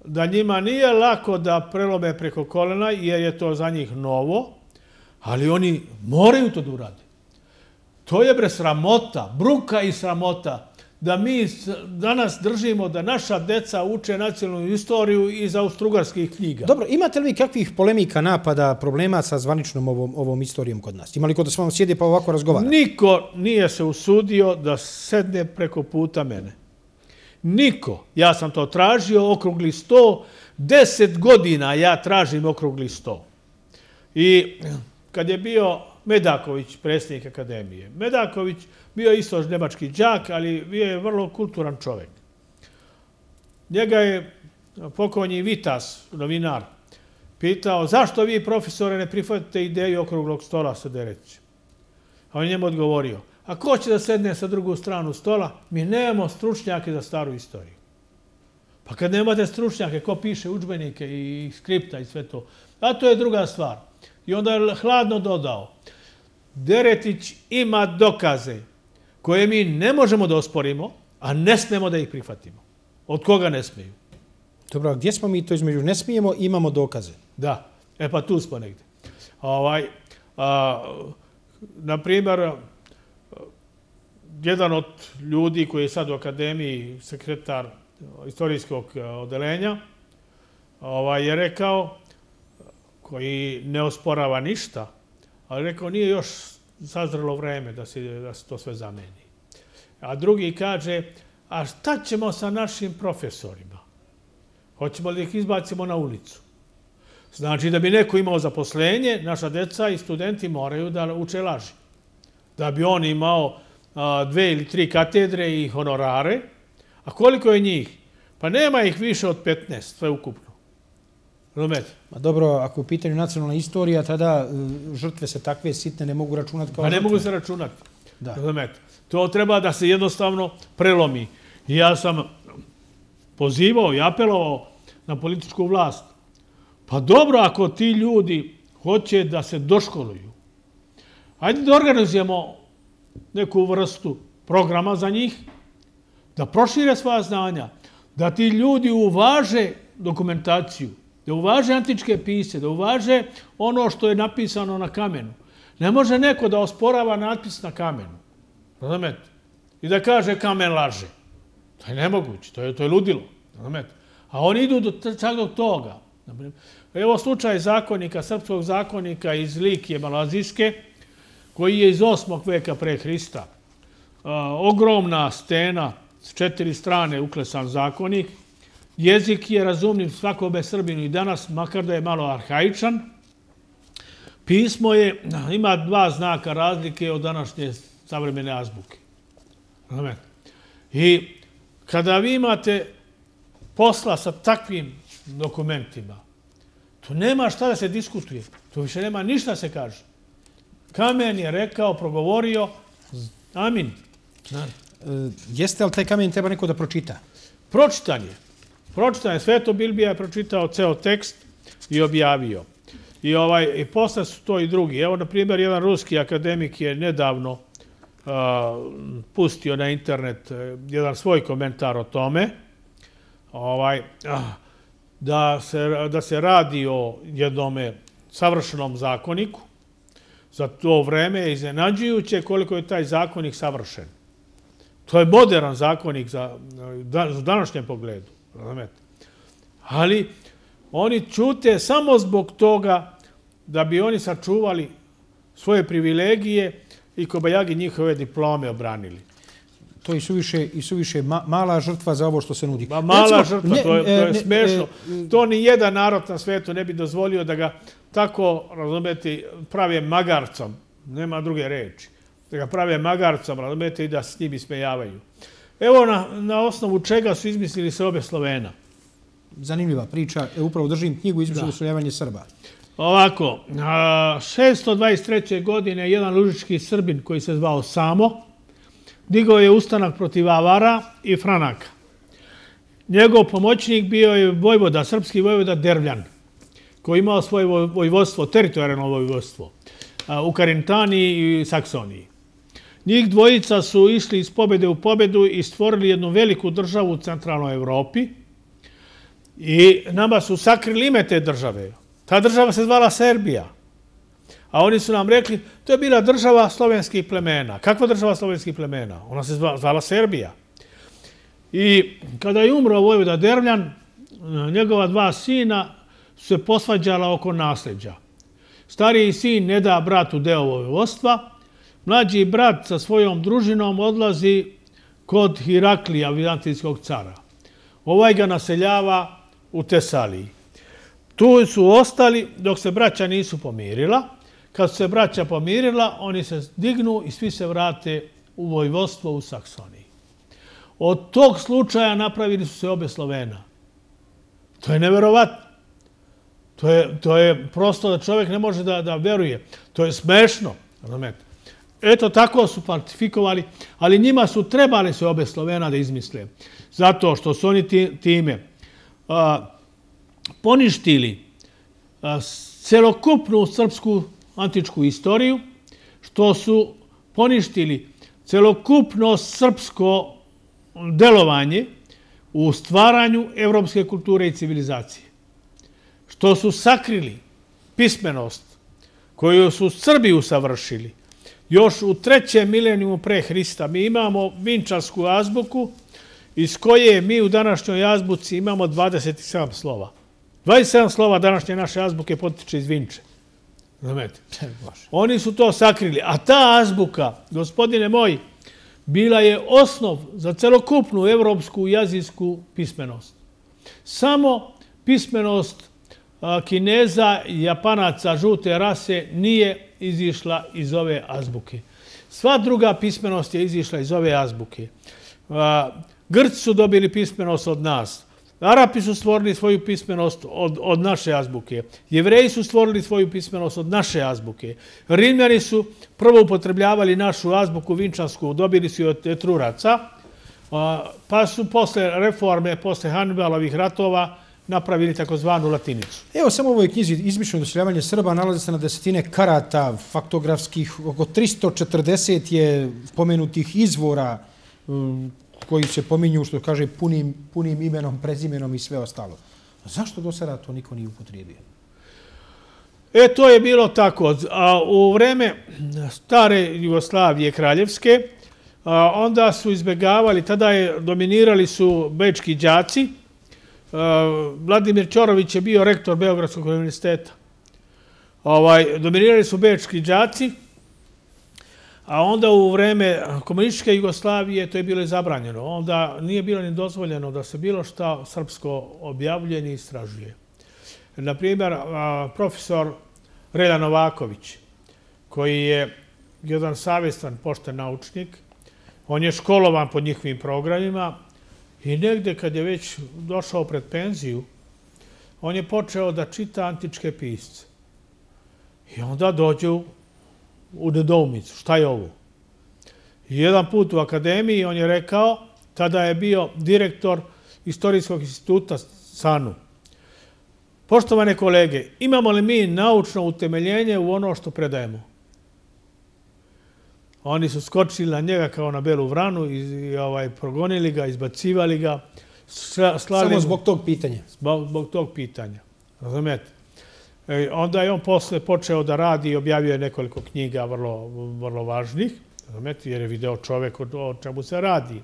da njima nije lako da prelome preko kolena, jer je to za njih novo, ali oni moraju to da urade. To je bre sramota, bruka i sramota, da mi danas držimo da naša deca uče nacionalnu istoriju iz austrougarskih knjiga. Dobro, imate li vi kakvih polemika, napada, problema sa zvaničnom ovom, ovom istorijom kod nas? Ima li ko da s vama sjede pa ovako razgovara? Niko nije se usudio da sedne preko puta mene. Niko. Ja sam to tražio, okrugli sto. Deset godina ja tražim okrugli sto. I kad je bio Medaković, predsjednik akademije, Medaković bio isto nemački đak, ali bio je vrlo kulturan čovjek. Njega je pokojni Vitas, novinar, pitao zašto vi, profesore, ne prihvatite ideju okruglog stola sa Derećem. A on njemu odgovorio, a ko će da sedne sa drugu stranu stola? Mi nemamo stručnjake za staru istoriju. Pa kad nemate stručnjake, ko piše udžbenike i skripta i sve to? A to je druga stvar. I onda je hladno dodao, Deretić ima dokaze koje mi ne možemo da osporimo, a ne smemo da ih prihvatimo. Od koga ne smiju? Dobro, a gdje smo mi to između ne smijemo, imamo dokaze? Da, e pa tu smo negdje. Ovaj, a, naprimjer, jedan od ljudi koji je sad u akademiji, sekretar istorijskog odelenja, ovaj, je rekao, koji ne osporava ništa, ali rekao nije još sazrelo vreme da se, da se to sve zameni. A drugi kaže, a šta ćemo sa našim profesorima? Hoćemo li ih izbacimo na ulicu? Znači da bi neko imao zaposlenje, naša deca i studenti moraju da uče laži. Da bi on imao a, dve ili tri katedre i honorare. A koliko je njih? Pa nema ih više od petnaest, sve ukupno. Razumete? Ma dobro, ako je u pitanju nacionalna istorija, tada žrtve se takve sitne ne mogu računati kao Pa ne žrtve. mogu se računati. Da. Razumete? To treba da se jednostavno prelomi. I ja sam pozivao i apelovao na političku vlast. Pa dobro, ako ti ljudi hoće da se doškoluju, ajde da organizujemo neku vrstu programa za njih, da prošire svoja znanja, da ti ljudi uvaže dokumentaciju, da uvaže antičke pise, da uvaže ono što je napisano na kamenu. Ne može neko da osporava natpis na kamenu. Razumete? I da kaže kamen laže. To je nemoguće, to je, to je ludilo. Razumete? A oni idu do, čak do toga. Evo slučaj zakonika, srpskog zakonika iz Likije Malazijske, koji je iz osmog veka pre Hrista. Ogromna stena, s četiri strane uklesan zakonik. Jezik je razumljiv svakome Srbinu i danas, makar da je malo arhaičan. Pismo je, ima dva znaka razlike od današnje savremene azbuke. I kada vi imate posla sa takvim dokumentima, to nema šta da se diskutuje. To više nema ništa da se kaže. Kamen je rekao, progovorio, amin. Jeste li taj kamen treba neko da pročita? Pročitan je. Pročitan je. Sveto Bilbija je pročitao ceo tekst i objavio. I, ovaj, i posle su to i drugi. Evo, na primjer, jedan ruski akademik je nedavno uh, pustio na internet uh, jedan svoj komentar o tome. Ovaj, uh, da, se, da se radi o jednome savršenom zakoniku. Za to vreme je iznenađujuće koliko je taj zakonik savršen. To je modern zakonik za, za današnjem pogledu. Ali oni ćute samo zbog toga da bi oni sačuvali svoje privilegije i kobajagi njihove diplome obranili. To je suviše, i suviše ma, mala žrtva za ovo što se nudi. Ma, mala Recimo, žrtva, ne, to je, to je ne, smešno. Ne, to ni jedan narod na svetu ne bi dozvolio da ga tako, razumete, prave magarcom. Nema druge reči. Da ga prave magarcom, razumete, i da s njim ismejavaju. Evo na, na osnovu čega su izmislili seobe Slovena. Zanimljiva priča. E, upravo držim knjigu Izmišljeno useljavanje Srba. Ovako, šesto dvadeset treće godine jedan lužički Srbin koji se zvao Samo digao je ustanak protiv Avara i Franaka. Njegov pomoćnik bio je vojvoda, srpski vojvoda Dervljan, koji imao svoje vojvodstvo, teritorijalno vojvodstvo u Karintaniji i Saksoniji. Njih dvojica su išli iz pobjede u pobjedu i stvorili jednu veliku državu u centralnoj Evropi i nama su sakrili ime te države. Ta država se zvala Serbija. A oni su nam rekli, to je bila država slovenskih plemena. Kakva država slovenskih plemena? Ona se zvala Serbija. I kada je umro vojvoda Dervljan, njegova dva sina su se posvađala oko nasljeđa. Stariji sin ne da bratu deo vojvodstva, mlađi brat sa svojom družinom odlazi kod Hiraklija, vizantijskog cara. Ovaj ga naseljava u Tesaliji. Tu su ostali dok se braća nisu pomirila. Kad su se braća pomirila, oni se dignu i svi se vrate u vojvodstvo u Saksoniji. Od tog slučaja napravili su se obe Slovena. To je neverovatno. To je, to je prosto da čovjek ne može da, da veruje. To je smešno. Eto, tako su falsifikovali, ali njima su trebali se obe Slovena da izmisle. Zato što su oni time a, poništili a, celokupnu srpsku antičku istoriju, što su poništili celokupno srpsko delovanje u stvaranju evropske kulture i civilizacije. Što su sakrili pismenost koju su Srbi usavršili. Još u trećem milenijumu pre Hrista mi imamo vinčarsku azbuku iz koje mi u današnjoj azbuci imamo dvadeset sedam slova. dvadeset sedam slova današnje naše azbuke potiče iz Vinče. Oni su to sakrili. A ta azbuka, gospodine moj, bila je osnov za celokupnu evropsku jezijsku pismenost. Samo pismenost Kineza i Japanaca žute rase nije izišla iz ove azbuke. Sva druga pismenost je izišla iz ove azbuke. Grci su dobili pismenost od nas. Arapi su stvorili svoju pismenost od, od naše azbuke. Jevreji su stvorili svoju pismenost od naše azbuke. Rimljani su prvo upotrebljavali našu azbuku vinčansku, dobili su od Etruraca, pa su posle reforme, posle Hanibalovih ratova, napravili takozvanu latinicu. Evo, samo u ovoj knjizi Izmišljeno doseljavanje Srba nalazi se na desetine karata faktografskih, oko tristo četrdeset je pomenutih izvora koji se pominju, što kaže, punim, punim imenom, prezimenom i sve ostalo. Zašto do sada to niko nije upotrijebio? E, to je bilo tako. A u vreme stare Jugoslavije kraljevske, a, onda su izbjegavali, tada je dominirali su bečki đaci, Vladimir Ćorović je bio rektor Beogradskog univerziteta. Dominirali su bečki đaci, a onda u vreme komunističke Jugoslavije to je bilo i zabranjeno. Onda nije bilo ni dozvoljeno da se bilo šta srpsko objavljuje ni istražuje. Naprimjer, profesor Relja Novaković, koji je jedan savjestan, pošten naučnik, on je školovan po njihovim programima i negde kad je već došao pred penziju, on je počeo da čita antičke pisce. I onda dođu u nedoumicu. Šta je ovo? I jedan put u akademiji on je rekao, tada je bio direktor Istorijskog instituta SANU. Poštovane kolege, imamo li mi naučno utemeljenje u ono što predajemo? Oni su skočili na njega kao na belu vranu i progonili ga, izbacivali ga. Samo zbog tog pitanja? Zbog tog pitanja. Razumete? Onda je on posle počeo da radi i objavio je nekoliko knjiga vrlo važnih, jer je video čovek o čemu se radi.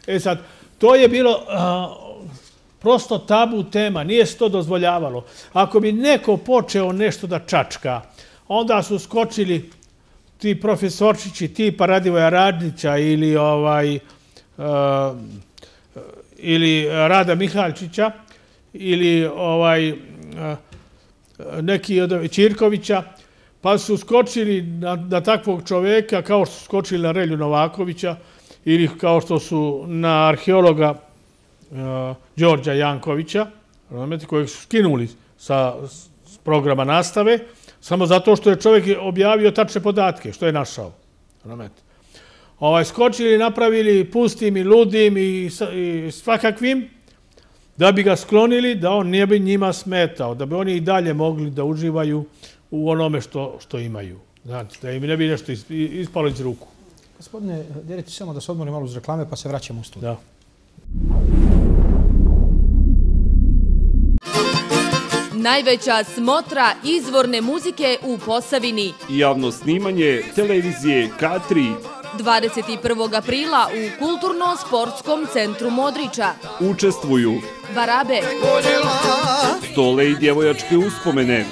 E sad, to je bilo prosto tabu tema, nije se to dozvoljavalo. Ako bi neko počeo nešto da čačka, onda su skočili ti profesorčići tipa Radivoja Radnića ili Rada Mihaljčića ili neki od Ćirkovića, pa su skočili na takvog čoveka kao što su skočili na Relju Novakovića ili kao što su na arheologa Đorđa Jankovića, kojeg su skinuli sa programa nastave, samo zato što je čovjek objavio tačne podatke, što je našao. Skočili, napravili pustim i ludim i svakakvim, da bi ga sklonili, da on ne bi njima smetao, da bi oni i dalje mogli da uživaju u onome što imaju. Da im ne bi nešto ispalo iz ruku. Gospodine Deretić, samo da se odmorim malo uz reklame, pa se vraćamo u studiju. Da. Najveća smotra izvorne muzike u Posavini. Javno snimanje televizije K tri. dvadeset prvog aprila u Kulturno-sportskom centru Modriča. Učestvuju Barabe, Stole i djevojačke uspomene,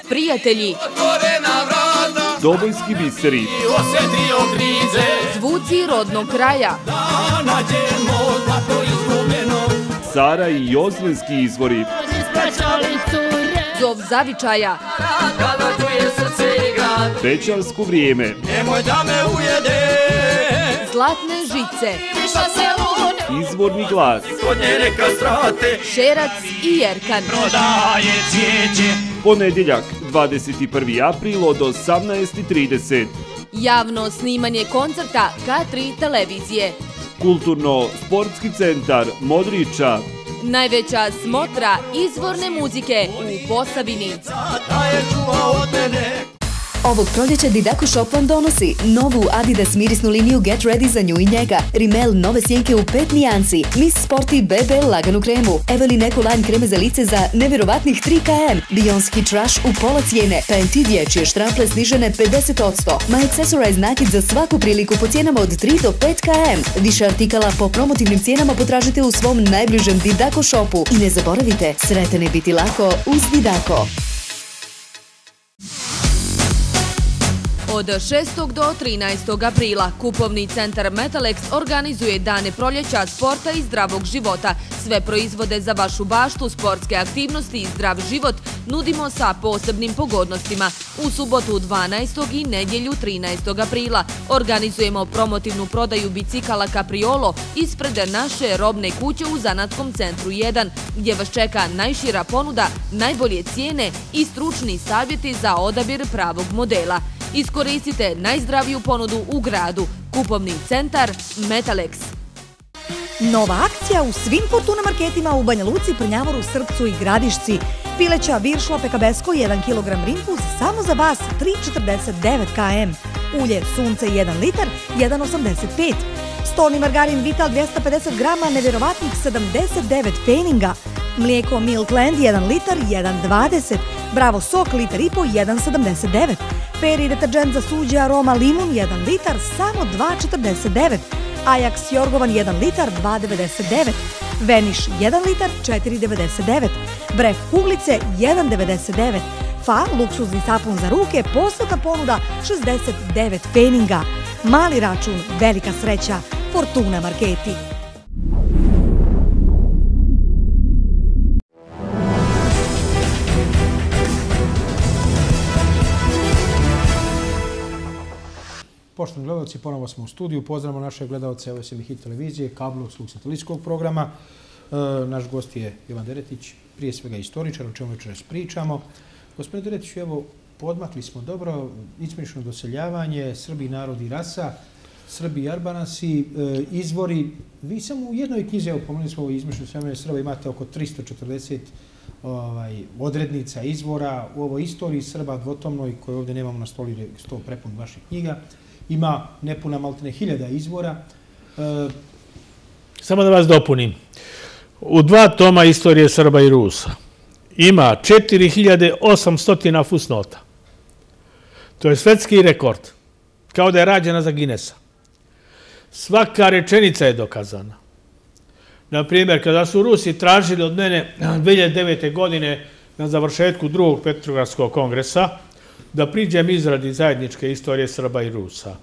Prijatelji, Dobojski biseri, Zvuci rodnog kraja, Sara i Jozlenski izvori, Zov zavičaja, Bećarsko vrijeme, Zlatne žice, Izvorni glas, Šerac i Jerkan. ponedjeljak dvadeset prvi april od osamnaest i trideset. Javno snimanje koncerta K tri televizije. Kulturno-sportski centar Modriča. Najveća smotra izvorne muzike u Posavini. Ovog proljeća Didaco Shop vam donosi novu Adidas mirisnu liniju Get Ready za nju i njega, Rimmel nove sjenke u pet nijansi, Miss Sporty B B laganu kremu, Evelyn Ecoline kreme za lice za nevjerovatnih tri kilograma, Beyoncé Trash u pola cijene, Fenty dječje štrample snižene pedeset posto, My Accessorize nakit za svaku priliku po cijenama od tri do pet kilograma. Više artikala po promotivnim cijenama potražite u svom najbližem Didaco Shopu i ne zaboravite, sretan je biti lako uz Didaco. Od šestog do trinaestog aprila Kupovni centar Metalex organizuje dane proljeća, sporta i zdravog života. Sve proizvode za vašu baštu, sportske aktivnosti i zdrav život nudimo sa posebnim pogodnostima. U subotu dvanaestog i nedjelju trinaestog aprila organizujemo promotivnu prodaju bicikala Capriolo ispred naše robne kuće u Zanatskom centru jedan, gdje vas čeka najšira ponuda, najbolje cijene i stručni savjeti za odabir pravog modela. Iskoristite najzdraviju ponudu u gradu. Kupovni centar Metalex. Nova akcija u svim Fortuna marketima u Banja Luci, Prnjavoru, Srpcu i Gradišci. Pileća viršla pekabesko jedan kilogram rinfuz samo za vas tri četrdeset devet kilograma. Ulje sunce jedan litar jedan osamdeset pet. Stolni margarin Vital dvjesto pedeset grama nevjerovatnih sedamdeset devet peninga. Mlijeko Milkland jedan litar jedan dvadeset. Bravo sok litar i po jedan sedamdeset devet. Peri deterđent za suđe aroma limun jedan litar samo dva četrdeset devet. Ajax Jorgovan jedan litar dva devedeset devet. Veniš jedan litar četiri devedeset devet, Bref kuglice jedan devedeset devet, Fa luksuzni sapun za ruke, posebna ponuda šezdeset devet pfeninga. Mali račun, velika sreća, Fortuna marketi. Poštovani gledalci, ponovo smo u studiju. Pozdravimo naše gledalce S M Hit televizije, kablovskog satelitskog programa. Naš gost je Jovan Deretić, prije svega istoričar, o čemu večeras pričamo. Gospodine Deretiću, evo, podmakli smo dobro, izmišljeno doseljavanje, Srbi, narod i rasa, Srbi i Arbanasi, izvori. Vi samo u jednoj knjizi, evo, pomenuli smo ovo izmišljeno doseljavanje Srba, imate oko tristo četrdeset odrednica izvora. U ovoj istoriji Srba dvotomnoj, koju ovdje nemamo na stoli, sto prepun vaših knjiga, ima nepuna maltene hiljada izvora. Samo da vas dopunim. U dva toma istorije Srba i Rusa ima četiri hiljade osamsto fusnota. To je svetski rekord. Kao da je rađena za Guinnessa. Svaka rečenica je dokazana. Naprimjer, kada su Rusi tražili od mene dve hiljade devete. godine na završetku drugog Petrogradskog kongresa da priđem izradi zajedničke istorije Srba i Rusa.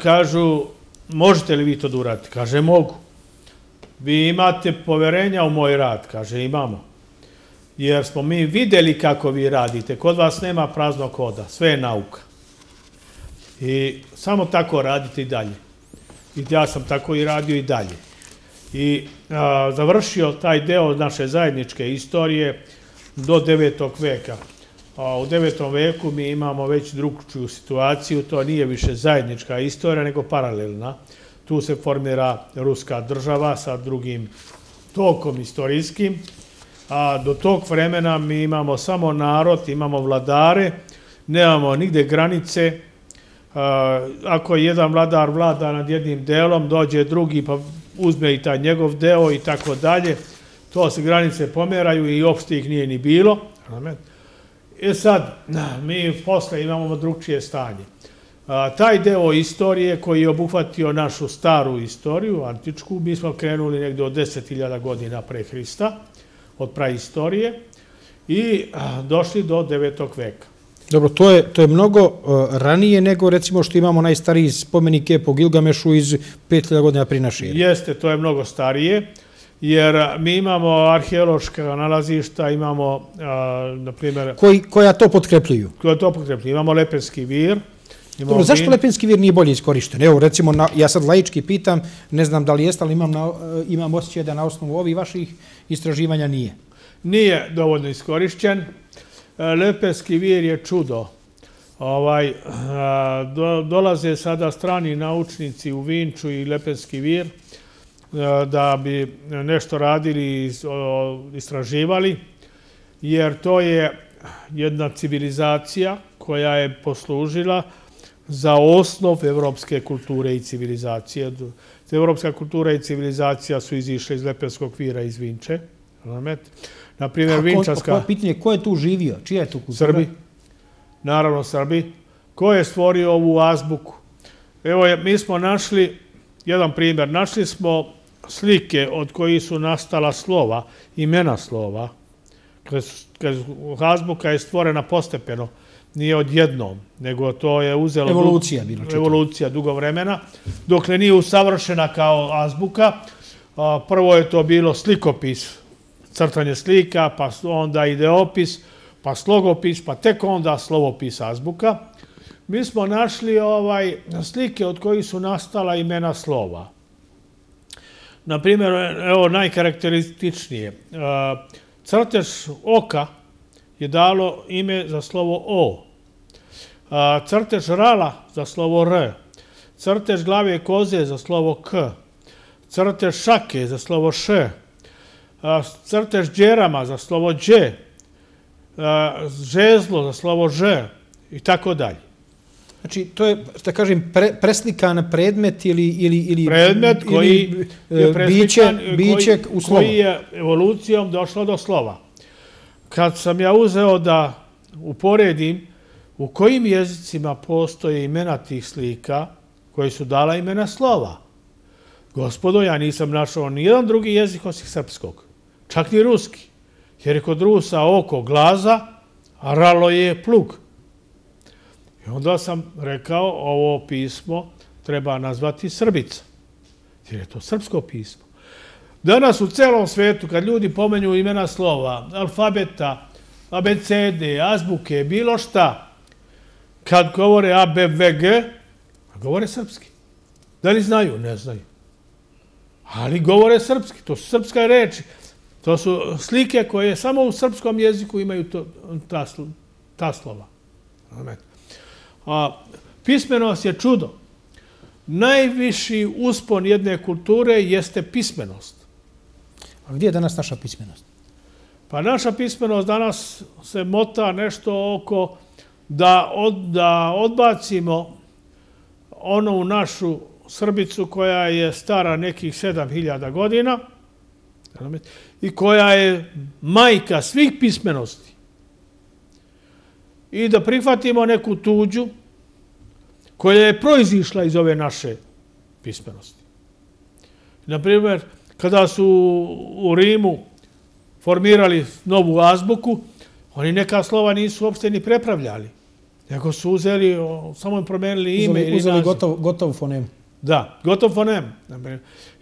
Kažu, možete li vi to da uradite? Kaže, mogu. Vi imate poverenja u moj rad? Kaže, imamo. Jer smo mi vidjeli kako vi radite. Kod vas nema praznog hoda. Sve je nauka. I samo tako radite i dalje. I ja sam tako i radio i dalje. I završio taj deo naše zajedničke istorije do devetog veka. U devetom veku mi imamo već drugčiju situaciju, to nije više zajednička istorija, nego paralelna. Tu se formira ruska država sa drugim tokom istorijskim, a do tog vremena mi imamo samo narod, imamo vladare, nemamo nigde granice. Ako jedan vladar vlada nad jednim delom, dođe drugi pa uzme i taj njegov deo i tako dalje, to se granice pomeraju i uopšte ih nije ni bilo. I sad, mi posle imamo drugčije stanje. Taj deo istorije koji je obuhvatio našu staru istoriju, antičku, mi smo krenuli negdje od deset hiljada godina pre Hrista, od praistorije, i došli do devetog veka. Dobro, to je, to je mnogo ranije nego recimo što imamo najstariji spomenik po Gilgamešu iz pet hiljada godina prije naše ere. Jeste, to je mnogo starije, jer mi imamo arheološka nalazišta, imamo, na primjer... Koja to potkrepljuju? Koja to potkrepljuju. Imamo Lepenski vir. Dobro, zašto Lepenski vir nije bolje iskorišten? Evo, recimo, ja sad laički pitam, ne znam da li jeste, ali imam osjećaj da na osnovu ovih vaših istraživanja nije. Nije dovoljno iskorišćen. Lepenski vir je čudo. Dolaze sada strani naučnici u Vinču i Lepenski vir da bi nešto radili i istraživali, jer to je jedna civilizacija koja je poslužila za osnov evropske kulture i civilizacije. Evropska kultura i civilizacija su izišle iz Lepenskog vira iz Vinče. Naprimjer, Vinčanska... Pitanje, ko je tu živio? Čija je tu kultura? Srbi. Naravno, Srbi. Ko je stvorio ovu azbuku? Evo, mi smo našli jedan primjer. Našli smo slike od kojih su nastala slova, imena slova. Azbuka je stvorena postepeno, nije odjednom, nego to je uzelo... Evolucija bilo čito. Evolucija dugo vremena, dokle nije usavršena kao azbuka. Prvo je to bilo slikopis, crtanje slika, pa onda ideopis, pa slogopis, pa tek onda slovopis azbuka. Mi smo našli slike od kojih su nastala imena slova. Naprimjer, evo najkarakterističnije, crtež oka je dalo ime za slovo O, crtež rala za slovo R, crtež glave koze za slovo K, crtež šake za slovo Š, crtež džerama za slovo Đ, žezlo za slovo Ž i tako dalje. Znači, to je, da kažem, preslikan predmet ili... Predmet koji je preslikan, u slovo. Koji je evolucijom došlo do slova. Kad sam ja uzeo da uporedim u kojim jezicima postoje imena tih slika koji su dala imena slova, Gospodo, ja nisam našao nijedan drugi jezik osim srpskog, čak ni ruski, jer je kod Rusa oko glaza, a ralo je plug. I onda sam rekao, ovo pismo treba nazvati Srbica, jer je to srpsko pismo. Danas u celom svetu, kad ljudi pomenju imena slova, alfabeta, abecede, azbuke, bilo šta, kad govore A, B, V, G, govore srpski. Da li znaju? Ne znaju. Ali govore srpski, to su srpska reči. To su slike koje samo u srpskom jeziku imaju to, ta, ta slova. A pismenost je čudo. Najviši uspon jedne kulture jeste pismenost. A gdje je danas naša pismenost? Pa naša pismenost danas se mota nešto oko da, od, da odbacimo onu našu Srbicu koja je stara nekih sedam hiljada godina i koja je majka svih pismenosti. I da prihvatimo neku tuđu koja je proizišla iz ove naše pismenosti. Naprimjer, kada su u Rimu formirali novu azbuku, oni neka slova nisu uopšte ni prepravljali, nego su uzeli, samo im promenili ime ili uzeli gotov, gotov fonem. Da, gotov fonem.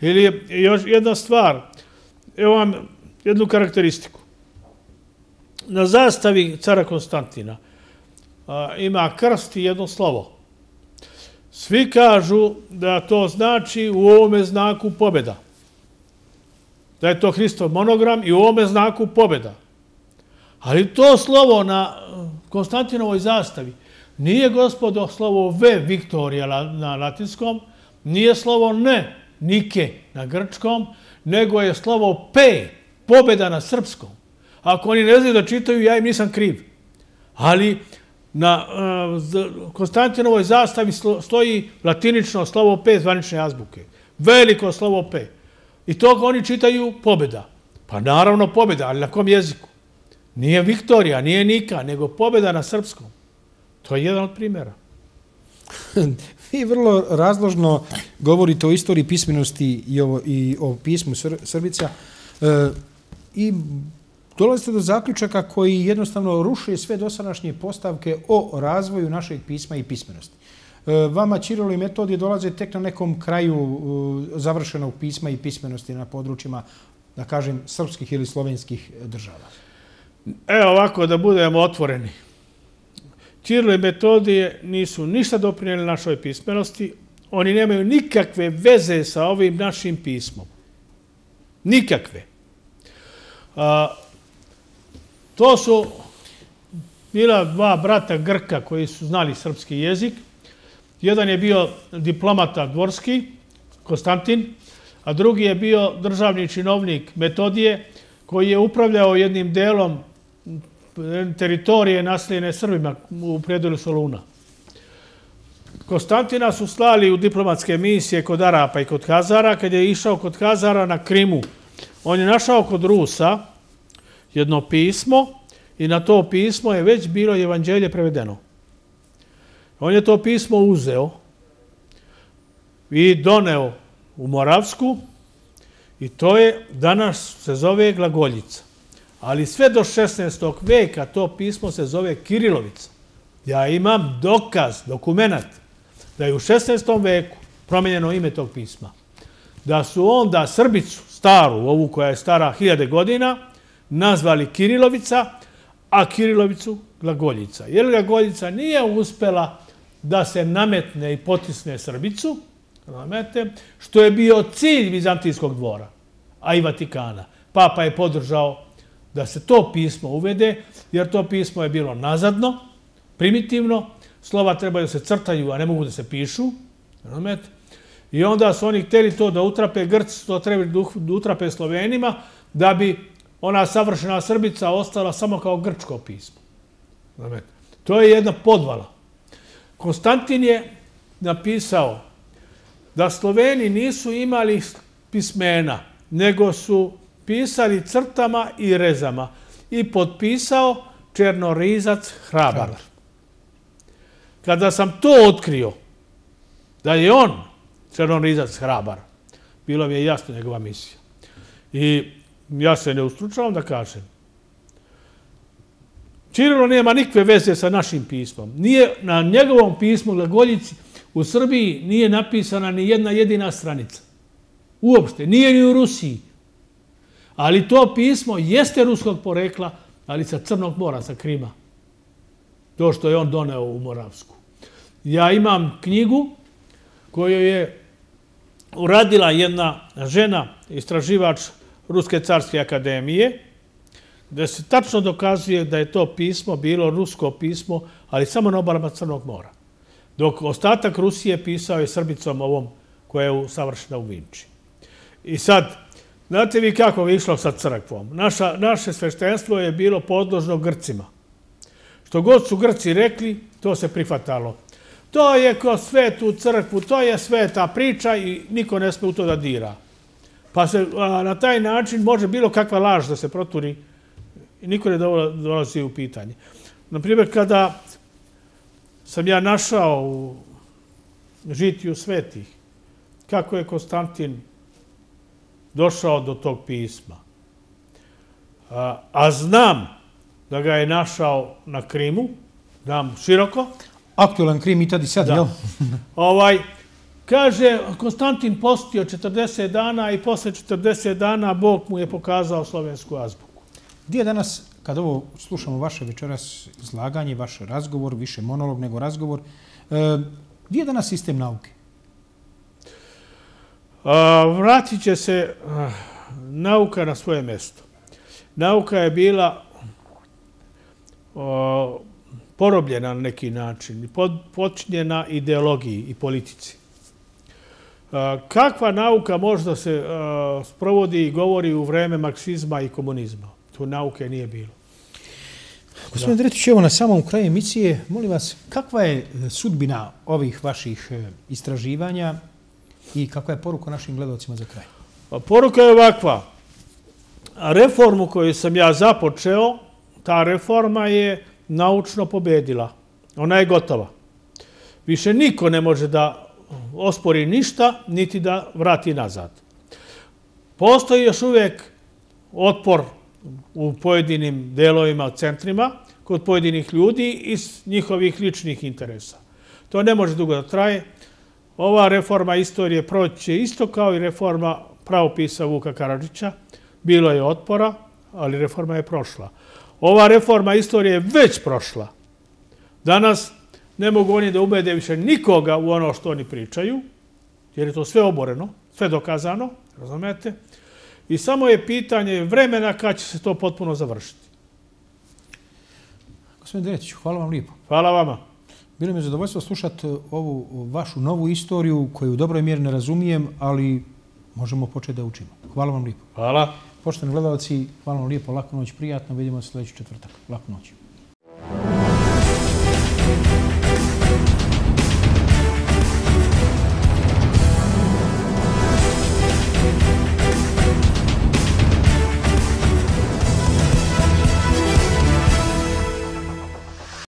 Ili još jedna stvar, evo vam jednu karakteristiku. Na zastavi cara Konstantina a, ima krst i jedno slovo. Svi kažu da to znači u ovome znaku pobjeda. Da je to Hristov monogram i u ovome znaku pobjeda. Ali to slovo na Konstantinovoj zastavi nije, gospodo, slovo V, Viktorija na latinskom, nije slovo N, Nike na grčkom, nego je slovo P, pobjeda na srpskom. Ako oni ne znaju da čitaju, ja im nisam kriv. Ali na uh, Konstantinovoj zastavi stoji latinično slovo P zvanične azbuke. Veliko slovo P. I toga oni čitaju pobjeda. Pa naravno pobjeda, ali na kom jeziku? Nije Viktorija, nije Nika, nego pobjeda na srpskom. To je jedan od primjera. Vi vrlo razložno govorite o istoriji pismenosti i o, i o pismu Sr Srbica e, i dolazite do zaključaka koji jednostavno ruše sve dosadašnje postavke o razvoju našeg pisma i pismenosti. E, vama Ćirilo i Metodije dolaze tek na nekom kraju e, završenog pisma i pismenosti na područjima, da kažem, srpskih ili slovenskih država. Evo ovako, da budemo otvoreni. Ćirilo i Metodije nisu ništa doprinijeli našoj pismenosti. Oni nemaju nikakve veze sa ovim našim pismom. Nikakve. A, to su bila dva brata Grka koji su znali srpski jezik. Jedan je bio diplomata dvorski, Konstantin, a drugi je bio državni činovnik Metodije, koji je upravljao jednim delom teritorije naseljene Srbima u predelu Soluna. Konstantina su slali u diplomatske misije kod Arapa i kod Hazara. Kad je išao kod Hazara na Krimu, on je našao kod Rusa jedno pismo i na to pismo je već bilo evanđelje prevedeno. On je to pismo uzeo i doneo u Moravsku i to je, danas se zove glagoljica. Ali sve do šesnaestog veka to pismo se zove Kirilovica. Ja imam dokaz, dokumenat, da je u šesnaestom veku promenjeno ime tog pisma. Da su onda Srbicu, staru, ovu koja je stara hiljade godina, nazvali Kirilovica, a Kirilovicu glagoljica. Jer glagoljica nije uspela da se nametne i potisne Srbicu, što je bio cilj Vizantijskog dvora, a i Vatikana. Papa je podržao da se to pismo uvede, jer to pismo je bilo nazadno, primitivno, slova trebaju da se crtaju, a ne mogu da se pišu. I onda su oni htjeli to da utrape, Grci to trebali da utrape Slovenima, da bi ona savršena Srbica ostala samo kao grčko pismo. To je jedna podvala. Konstantin je napisao da Sloveni nisu imali pismena, nego su pisali crtama i rezama i potpisao Černorizac Hrabar. Kada sam to otkrio, da je on Černorizac Hrabar, Bila mi je jasna njegova misija. I ja se ne ustručavam da kažem. Ćirilo nema nikakve veze sa našim pismom. Nije na njegovom pismu glagoljici u Srbiji nije napisana ni jedna jedina stranica. Uopšte. Nije ni u Rusiji. Ali to pismo jeste ruskog porekla, ali sa Crnog mora, sa Krima. To što je on doneo u Moravsku. Ja imam knjigu koju je uradila jedna žena, istraživač Ruske carske akademije, gde se tačno dokazuje da je to pismo bilo rusko pismo, ali samo na obalama Crnog mora. Dok ostatak Rusije pisao je Srbicom ovom koja je savršena u Vinči. I sad, znate vi kako je išlo sa crkvom? Naša, naše sveštenstvo je bilo podložno Grcima. Što god su Grci rekli, to se prihvatalo. To je kroz svetu crkvu, to je sveta priča i niko ne sme u to da dira. Pa se a, na taj način može bilo kakva laž da se proturi i niko ne dolazi u pitanje. Naprimjer, kada sam ja našao u žitiju svetih kako je Konstantin došao do tog pisma, a, a znam da ga je našao na Krimu, znam široko. Aktualan Krim i tad i sad, jel? Ovaj, kaže, Konstantin postio četrdeset dana i posle četrdeset dana Bog mu je pokazao slovensku azbuku. Gdje je danas, kad ovo slušamo vaše večeras izlaganje, vaš razgovor, više monolog nego razgovor, gdje je danas sistem nauke? Vratit će se nauka na svoje mjesto. Nauka je bila porobljena na neki način, počinjena ideologiji i politici. Kakva nauka možda se sprovodi i govori u vreme marksizma i komunizma? Tu nauke nije bilo. Gospodin Dretić, evo na samom kraju emisije, molim vas, kakva je sudbina ovih vaših istraživanja i kakva je poruka našim gledalcima za kraj? Poruka je ovakva. Reformu koju sam ja započeo, ta reforma je naučno pobedila. Ona je gotova. Više niko ne može da ospori ništa, niti da vrati nazad. Postoji još uvijek otpor u pojedinim delovima, centrima, kod pojedinih ljudi iz njihovih ličnih interesa. To ne može dugo da traje. Ova reforma istorije proći će isto kao i reforma pravopisa Vuka Karadžića. Bilo je otpora, ali reforma je prošla. Ova reforma istorije je već prošla. Danas ne mogu oni da ubede više nikoga u ono što oni pričaju, jer je to sve oboreno, sve dokazano, razumete? I samo je pitanje vremena kad će se to potpuno završiti. Gospodin Dretić, hvala vam lijepo. Hvala vama. Bilo mi je zadovoljstvo slušati ovu vašu novu istoriju koju u dobroj mjeri ne razumijem, ali možemo početi da učimo. Hvala vam lijepo. Hvala. Poštovani gledalci, hvala vam lijepo, laku noć, prijatno. Vidimo se sljedeći četvrtak. Laku noć.